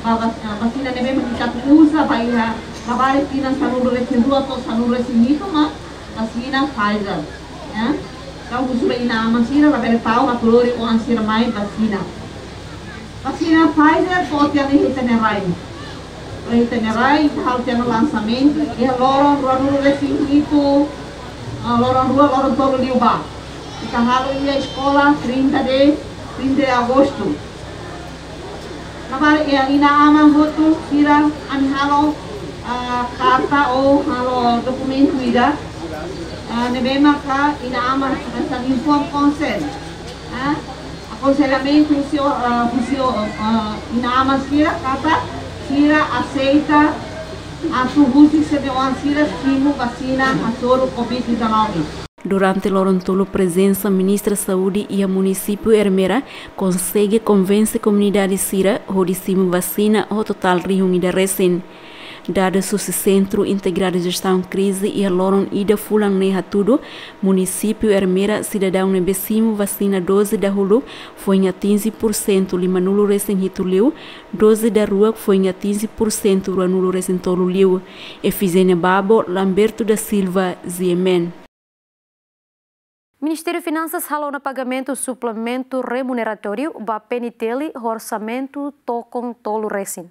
ba, ba, ah, vasina ne'ebé mak ita uza ba iha labarik tinan sanulu-resin-rua to'o sanulu-resin-hitu mak vasina Pfizer, ya. Entaun husu ba inan-aman sira labele ta'uk atu lori oan sira mai vasina. Vasina Pfizer to'o tiha ona iha ita-nia rai. Iha ita-nia rai, ita halo tiha ona lansamentu iha loron ruanulu-resin-hitu, ah, loron rua, loron tolu liubá. Ita halo iha eskola trinta de, trinta de agostu. Labarik, eh, inan-aman hotu sira, ami halo, ah, karta ou halo dokumentu ida, ah, ne'ebé maka inan-aman hanesan informed consent, ah, akonsellamentu husi, ah, husi, ah, inan-aman sira katak sira aseita atu husik sira-nia oan sira simu vasina hasoru Covid dezanove. Durante loron tolu prezensa Ministra Saúde iha munisípiu Ermera, konsege konvense komunidade sira hodi simu vasina ho totál rihun ida resin. Dadus husi Sentru Integradu Jestaun Krize iha loron ida fulan ne'e hatudu, munisípiu Ermera sidadaun ne'ebé simu vasina doze dahuluk foin atinje pursentu limanulu resin hitu liu, doze daruak foin atinje pursentu ruanulu resin tolu liu. Efigénia Babo, Lamberto da Silva, G M N. Ministériu Finansas halo ona pagamentu suplementu remuneratóriu ba P N T L ho orsamentu tokon tolu resin.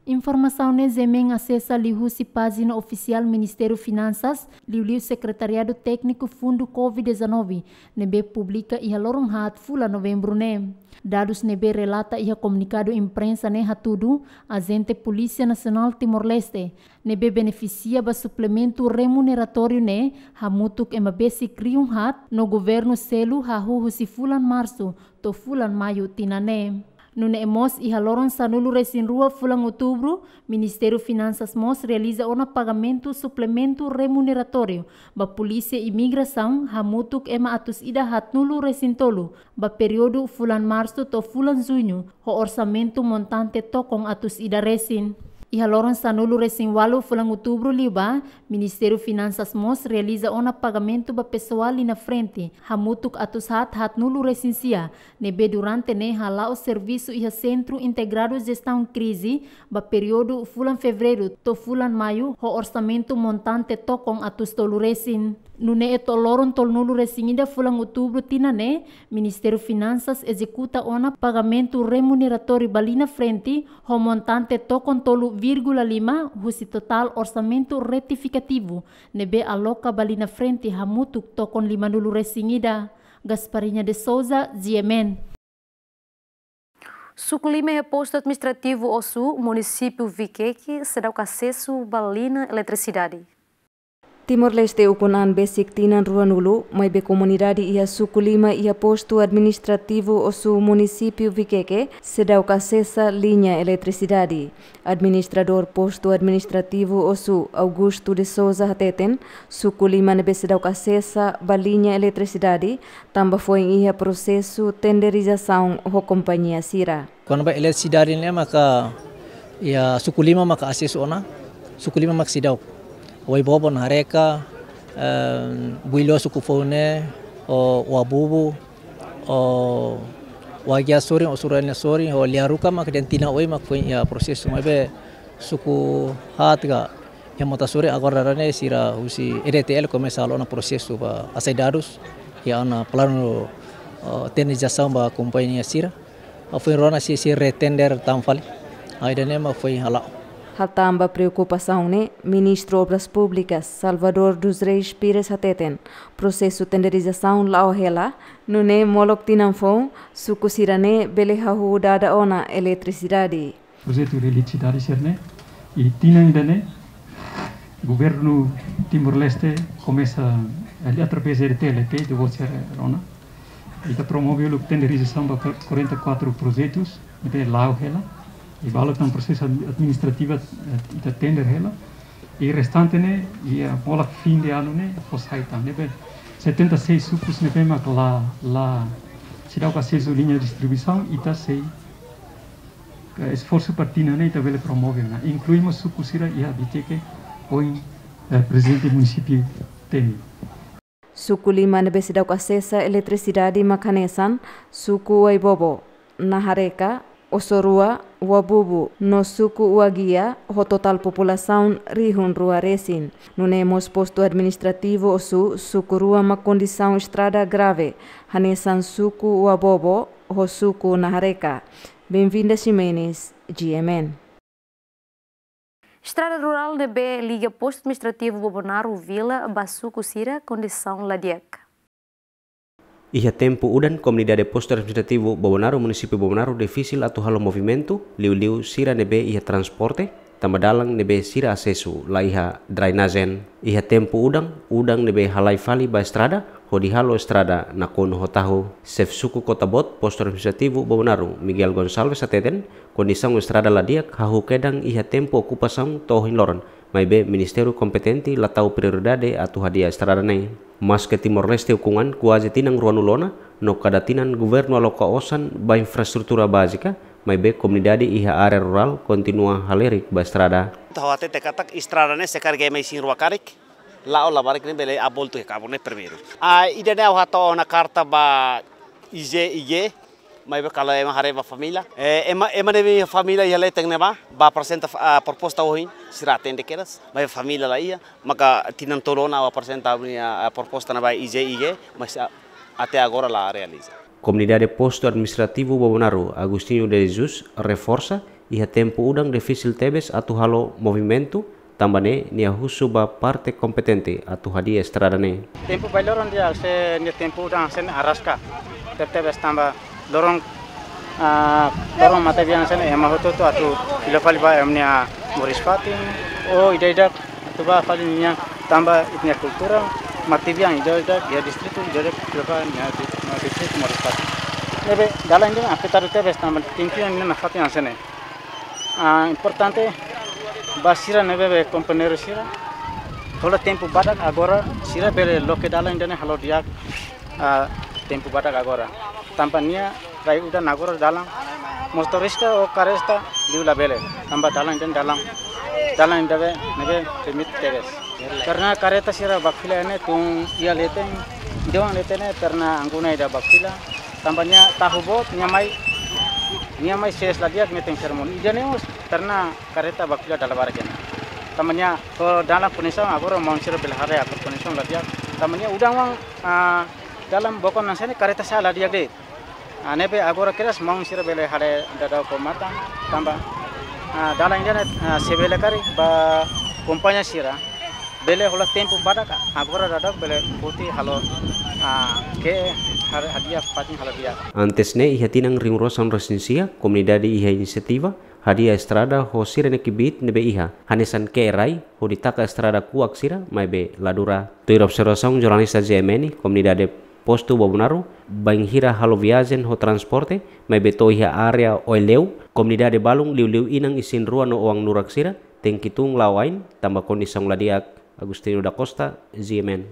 Informasaun ne'e G M N asesa liuhusi pájina ofisiál Ministériu Finansas, liuliu Sekretariadu Tékniku Fundu covid dezanove, ne'ebé publika iha loron haat fulan Novembru ne'e. Dadus ne'ebé relata iha komunikadu imprensa ne'e hatudu, ajente Polísia Nasionál Timor-Leste ne'ebé benefisia ba suplementu remuneratóriu ne'e hamutuk ema besik rihun haat no governu selu hahú husi fulan Marsu to'o fulan Maiu tinan ne'e. Nune'e mós iha loron sanulu resin rua fulan Outubru, Ministériu Finansas mós realiza ona pagamentu suplementu remuneratóriu ba Polísia Imigrasaun hamutuk ema atus ida haatnulu resin tolu, ba períodu fulan Marsu to'o fulan Juñu, ho orsamentu montante tokon atus ida resin. Iha loron sanulu resin walu fulan Outubru liubá, Ministériu Finansas mós realiza ona pagamentu ba pesoál liña frente, hamutuk atus haat haatnulu resin sia, ne'ebé durante ne'e hala'o servisu iha Sentru Integradu Jestaun Krize, ba períodu fulan Fevereiru to'o fulan Maiu, ho orsamentu montante tokon atus tolu resin. Nune'e to'o loron tolunulu resin ida fulan Outubru tinan ne'e, Ministériu Finansas ezekuta ona pagamentu remuneratóriu ba liña frente ho montante tokon tolu vírgula lima husi totál orsamentu retifikativu ne'ebé aloka ba liña frente hamutuk tokon limanulu resin ida. Gasparinha de Souza, G M N. Suku lima iha Postu Administrativu Ossu, Munisípiu Viqueque, seidauk asesu ba liña eletrisidade. Timor-Leste ukun-an besik tinan ruanulu, maibé komunidade iha Suku lima iha Postu Administrativu Ossu, Munisípiu Viqueque, seidauk asesa liña eletrisidade. Administradór Postu Administrativu Ossu, Augusto de Souza hateten, Suku lima ne'ebé seidauk asesa ba liña eletrisidade, tanba foin iha prosesu tenderizasaun ho kompañia sira. Kona-ba eletrisidade ne'e maka iha Suku lima maka asesu ona, Suku lima maka seidauk. Wai-Bobo, Nahareka, eh, Builo, Suku Foune, ho Wabubu, ho Wagia sorin, Ossu Rua nia sorin, ho Liaruka maka dehan tinan oin maka foin iha prosesu, maibé suku haat ka iha Mota sorin agora daudaun ne'e sira husi E D T L komesa halo ona prosesu ba hasai dadus, iha ona planu, eh, tenderizasaun ba kompañia sira. Foin rona sei, sei retender tan fali. Ida-ne'e mak foin hala'o. Hatán ba preokupasaun ne'e, Ministru Obras Públikas, Salvador dos Reis Pires hateten, prosesu tenderizasaun la'o hela, nune'e molok tinan foun, suku sira-ne'e bele hahú dada ona eletrisidade. Projetu eletrisidade sira-ne'e, i tinan ida-ne'e, Governu Timor-Leste komesa, eh, através de E D T L, depois sira rona. Ita promove uluk tenderizasaun ba quarenta e quatro projetus, ita la'o hela. I balu tan prosesu ad-, administrativu, eh, ita tender hela. I restante ne'e, iha molok fim de ano ne'e, fó sai tan. Ne'ebé setenta e seis sukus ne'ebé mak la, la, seidauk asesu liña distribuisaun, ita sei, eh, esforsu ba tinan ne'e ita bele promove ona. Inklui mós suku sira iha Viqueque, ohin, eh, prezidente munisípiu temi. Suku lima ne'ebé seidauk asesa eletrisidade mak hanesan, suku Wai-Bobo, Nahareka, Ossu Rua, Wabubu, no suku Wagia, ho totál populasaun rihun rua resin. Nune'e mós postu administrativu Ossu, suku rua mak kondisaun estrada grave, hanesan suku Wabobo, ho suku Nahareka. Benvinda Ximenes, G M N. Estrada rurál ne'ebé liga postu administrativu Bobonaro Vila ba suku sira kondisaun la di'ak. Iha tempu udan, komunidade postu administrativu Bobonaro, munisípiu Bobonaro, difisil atu halo movimentu, liuliu sira ne'ebé iha transporte, tanba dalan ne'ebé sira asesu la iha drainajen. Iha tempu udan, udan ne'ebé halai fali ba estrada, hodi halo estrada nakonu ho tahu. Xefe suku Kota Boot, postu administrativu Bobonaro, Miguel Gonçalves hateten, kondisaun estrada la di'ak hahú kedan iha tempu okupasaun to'o ohin loron, maibé ministériu kompetente la tau prioridade atu hadi'a estrada ne'e. Maske Timor-Leste ukun-an kuaze tinan ruanulu ona, no kada tinan governu aloka osan ba infraestrutura bázika, Maibé komunidade iha área rurál kontinua halerik ba estrada. Ha'u hatete katak estrada ne'e se karik ema isin-rua karik, la'o labarik ne'e bele aboltu iha kabun ne'e primeiru. Ah, ida-ne'e ha'u hato'o ona karta ba I G I G, maibé kalau ema haree ba família. Eh, ema, ema ne'ebé família iha leten ne'ebá, bá aprezenta, ah, proposta ohin, sira atende kedas, maibé família la iha, maka tinan tolu ona ha'u aprezenta ami-nia, ah, proposta ne'e ba I G I G, mas, ah, até agora la realiza. Komunidade Postu Administrativu Bobonaro, Agostinho de Jesus, reforsa, iha tempu udan difisil tebes atu halo movimentu, tanba ne'e nia husu ba parte kompetente atu hadi'a estrada ne'e. Tempu bailoro nia se nia tempu udan se nia araska. Tebetebes tanba loron, ah, loron matebian se nia ema hotu-hotu atu fila fali ba ema nia moris-fatin. O ida-idak atu bá fali nian tanba ita-nia kultura matebian ida-idak iha distritu ida-idak fila fali nian di, nian distritu moris-fatin. Ne'ebé dalan ida afetadu tebes tanba tempu ida-ne'e nafatin hanesan ne'e. Ah, importante ba sira ne'ebé be kompañeiru sira. Hola tempu badak agora sira bele loke dalan ida-ne'e halo di'ak, ah, tempu badak agora. Tanba nia rai udan agora dalan motorista ou karreta liu labele. Tanba dalan ida-ne'e dalan, dalan ida-ne'e be, ne'ebé permite tebes. Karena karreta sira bakfila ne'e tun iha leten, dewan leten ne'e karena angguna ida bakfila. Tanba nia tahu boot, nia mai, nia mai ses la di'ak metin sermon. Ida-ne'e mós karena karreta bakfila dala barak ne'e. Tanba nia ho dalan kondisaun agora maun sira bele haree atu kondisaun la di'ak. Tanba nia udan wan, ah, dalan bokon hanesan ne'e karreta sa'e la di'ak de'it. Ah, ne'ebé agora kedas maun sira bele haree daudaun ho matan. Tanba, ah, dalan ida-ne'e, ah, se bele karik ba kompañia sira. Bele hola tempu badak agora daudaun bele foti halo, ah, ke har-, hadi'a fatin halo di'ak. Antes ne'e iha tinan rihun rua sanulu-resin-sia, komunidade iha inisiativa hadi'a estrada ho sira-nia kbiit ne'ebé iha, hanesan ke'e rai hodi taka estrada kuak sira, maibé la dura. Tuir observasaun jornalista G M N, komunidade Postu Bobonaro, bainhira halo viajen ho transporte, maibé to'o iha área Oileu, komunidade balun liuliu inan isin-rua no oan nurak sira, tenke tun la'o ain, tanba kondisaun la di'ak. Agostinho da Costa, G M N.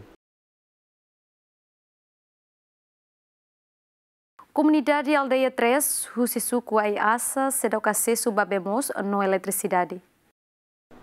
Komunidade Aldeia três, husi suku Aiasa, seidauk asesu ba bee moos no eletrisidade.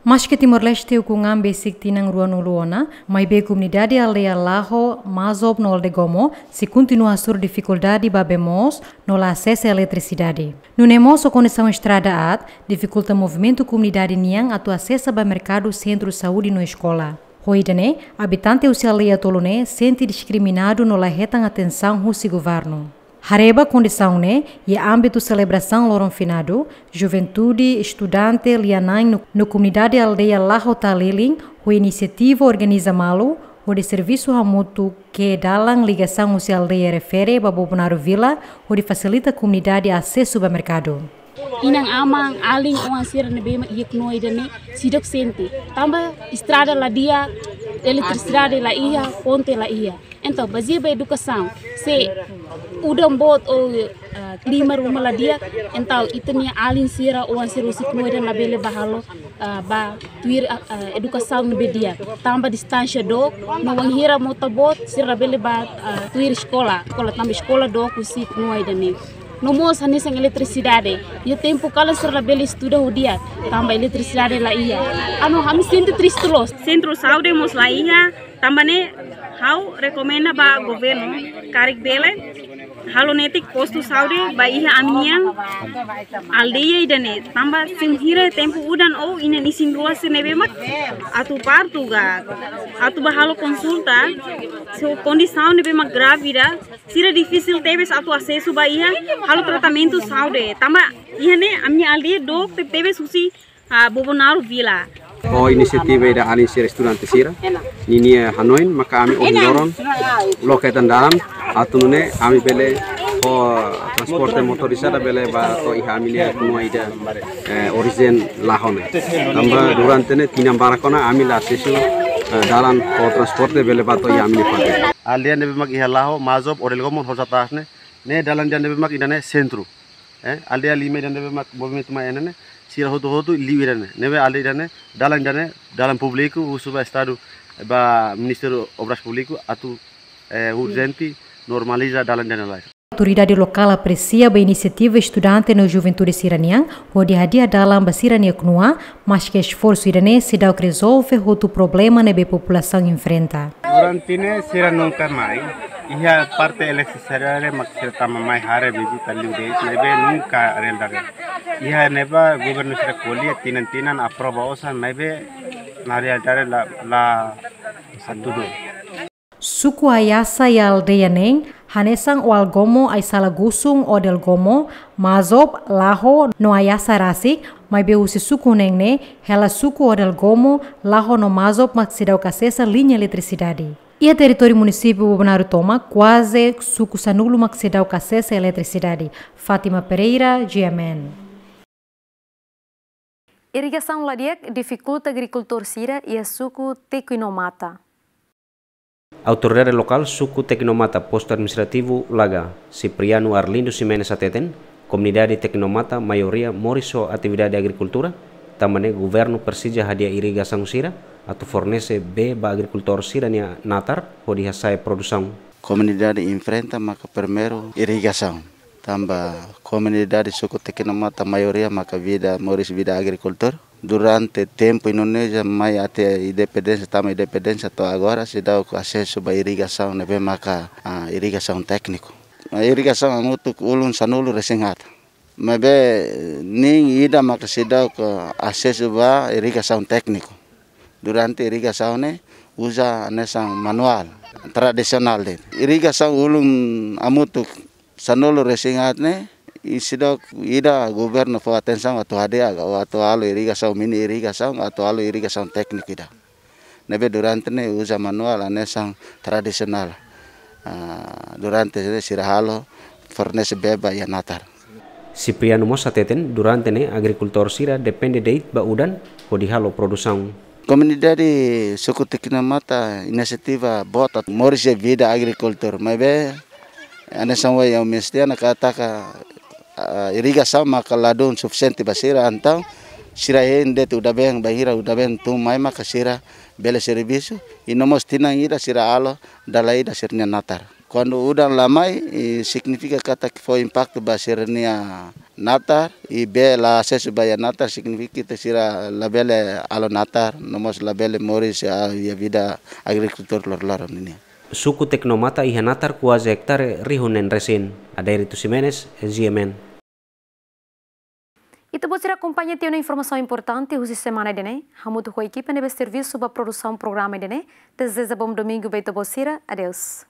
Maske Timor-Leste ukun an besik tinan ruanulu ona, maibé komunidade aldeia Laho, Mazob no Oldegomo sei kontinua hasoru difikuldade ba bee moos no la asesa eletrisidade. Nune'e mós ho kondisaun estrada aat difikulta movimentu komunidade nian atu asesa ba merkadu, sentru saúde no eskola. Ho ida-ne'e, abitante husi aldeia tolu ne'e sente diskriminadu no la hetan atensaun husi governu. Haree ba kondisaun ne'e, iha ámbitu selebrasaun loron finadu, juventude, estudante, lia-na'in no, no komunidade aldeia Laho Talilin, ho inisiativa organiza malu, hodi servisu hamutuk ke'e dalan ligasaun husi aldeia refere ba Bobonaro Vila, hodi fasilita komunidade asesu ba merkadu. Inan-aman, alin, oan sira ne'ebé mak iha knua ida-ne'e seidauk sente. Tanba estrada la di'ak, eletrisidade la iha, ponte la iha. Entaun, bazeia ba edukasaun, se udan boot ou, ah, klima ruma la di'ak, entaun ita-nia alin sira, oan sira husi knua ida labele bá halo, ah, bá tuir, ah, ah, edukasaun ne'ebé di'ak. Tanba distánsia dook, no wainhira mota boot, sira labele bá, ah, tuir eskola, eskola tanba eskola dook husi knua ida-ne'e. No mós hanesan eletrisidade. Iha tempu kalan sira labele estuda ho di'ak, tanba eletrisidade la iha. Anu, ami sente triste loos. Sentru saúde mós la iha, tanba ne'e ha'u rekomenda ba governu, karik bele, halo netik postu saúde ba iha ami-nian aldeia ida-ne'e. Tanba se wainhira tempu udan ou inan isin-rua sira ne'ebé mak atu partu ka, atu bá halo konsulta, se kondisaun ne'ebé mak grávida, sira difisil tebes atu asesu ba iha halo tratamentu saúde. Tanba iha ne'e ami-nia aldeia dook tebetebes husi, ah, Bobonaro Vila. Ho inisiativa ida alin sira estudante sira ninia hanoin maka ami ohin loron loke tan dalan atu nune'e ami bele ho transporte motorizada bele bá to'o iha ami-nia knua ida, eh, orijen Laho ne'e. Tanba durante ne'e tinan barak ona ami la asesu, eh, dalan ho transporte bele bá to'o iha ami-nia fatin. Aldeia ne'ebé mak iha Laho, Mazob, Oldegomo, Hosatas ne'e, ne'e dalan ida ne'ebé mak ida-ne'e sentru. Eh, aldeia lima ida ne'ebé mak movimentu mai iha ne'e, sira hotu-hotu liu ida-ne'e. Ne'ebé aldeia ida-ne'e, dalan ida-ne'e, dalan públiku, husu ba Estadu, ba Ministériu Obras Públiku, atu, eh, urjente normaliza dalan ida-ne'e lai. Autoridade lokál apresia ba inisiativa estudante no juventude sira-nian, hodi hadi'a dalan ba sira-nia knua, maske esforsu ida-ne'e seidauk rezolve hotu problema ne'ebé populasaun enfrenta. Durante ne'e sira nunka mai. Iha parte eletrisidade mak sira tama mai haree vizita liu de'it, maibé nunka realidade. Iha ne'ebá governu sira ko'alia tinan-tinan aprova osan, maibé na realidade la, la hatudu. Suku Ayasa iha aldeia neen, hanesan Oalgomo, Aisala Gusun, Odelgomo, Mazob, Laho, no Ayasa rasik, maibé husi suku neen ne'e, hela suku Odelgomo, Laho no Mazob mak seidauk asesa liña eletrisidade. Iha territóriu munisípiu Bobonaro tomak, kuaze suku sanulu mak seidauk asesa eletrisidade. Fátima Pereira, G M N. Irrigasaun la di'ak difikulta agrikultór sira iha suku Tequinomata. Autoridade lokál suku Tequinomata, postu administrativu Laga, Cipriano Arlindo Ximenes hateten, komunidade Tequinomata maioria moris ho atividade agrikultura, tanba ne'e governu presiza hadi'a irrigasaun sira atu fornese bee ba agrikultór sira-nia natar hodi hasa'e produsaun. Komunidade enfrenta maka primeiru irrigasaun. Tanba komunidade suku Tequinomata maioria maka vida, moris vida agrikultór. Durante tempu Indonézia mai até independénsia, tama independénsia to'o agora, seidauk asesu ba irrigasaun ne'ebé maka, ah, irrigasaun tékniku. Ah, irrigasaun hamutuk ulun sanulu resin haat. Maibé neen ida maka seidauk asesu ba irrigasaun tékniku. Durante irrigasaun ne'e uza hanesan manuál, tradisionál de'it. Irrigasaun ulun hamutuk sanulu resin haat ne'e, i seidauk ida governu fó atensaun atu hadi'a, atu halo irrigasaun, mini irrigasaun, atu halo irrigasaun tékniku ida. Ne'ebé durante ne'e uza manuál hanesan tradisionál. Ah, durante ne'e sira halo fornese bee ba iha natar. Cipriano mós hateten, durante ne'e agrikultór sira depende de'it ba udan hodi halo produsaun. Komunidade suku Tequinomata inisiativa boot atu moris iha vida agrikultór, maibé hanesan ohin ha'u mensiona katak, ah, irrigasaun maka ladún sufisiente ba sira, entaun sira hein de'it udan-been, bainhira udan-been tun mai maka sira bele servisu, i no mós tinan ida sira halo dala ida sira-nia natar. Kuandu udan la mai, i signifika katak fó impaktu ba sira-nia natar, i bee la asesu ba iha natar, signifika katak sira labele halo natar, no mós labele moris, ah, iha vida agrikultór loroloron nian. Suku Tequinomata iha natar kuaze ektare rihun neen resin. Adérito Ximenes, G M N. Ita-boot sira akompaña tiha ona informasaun importante husi semana ida-ne'e, hamutuk ho ekipa ne'ebé servisu ba produsaun programa ida-ne'e. Dezeja bom domingu ba ita-boot sira. Adeus.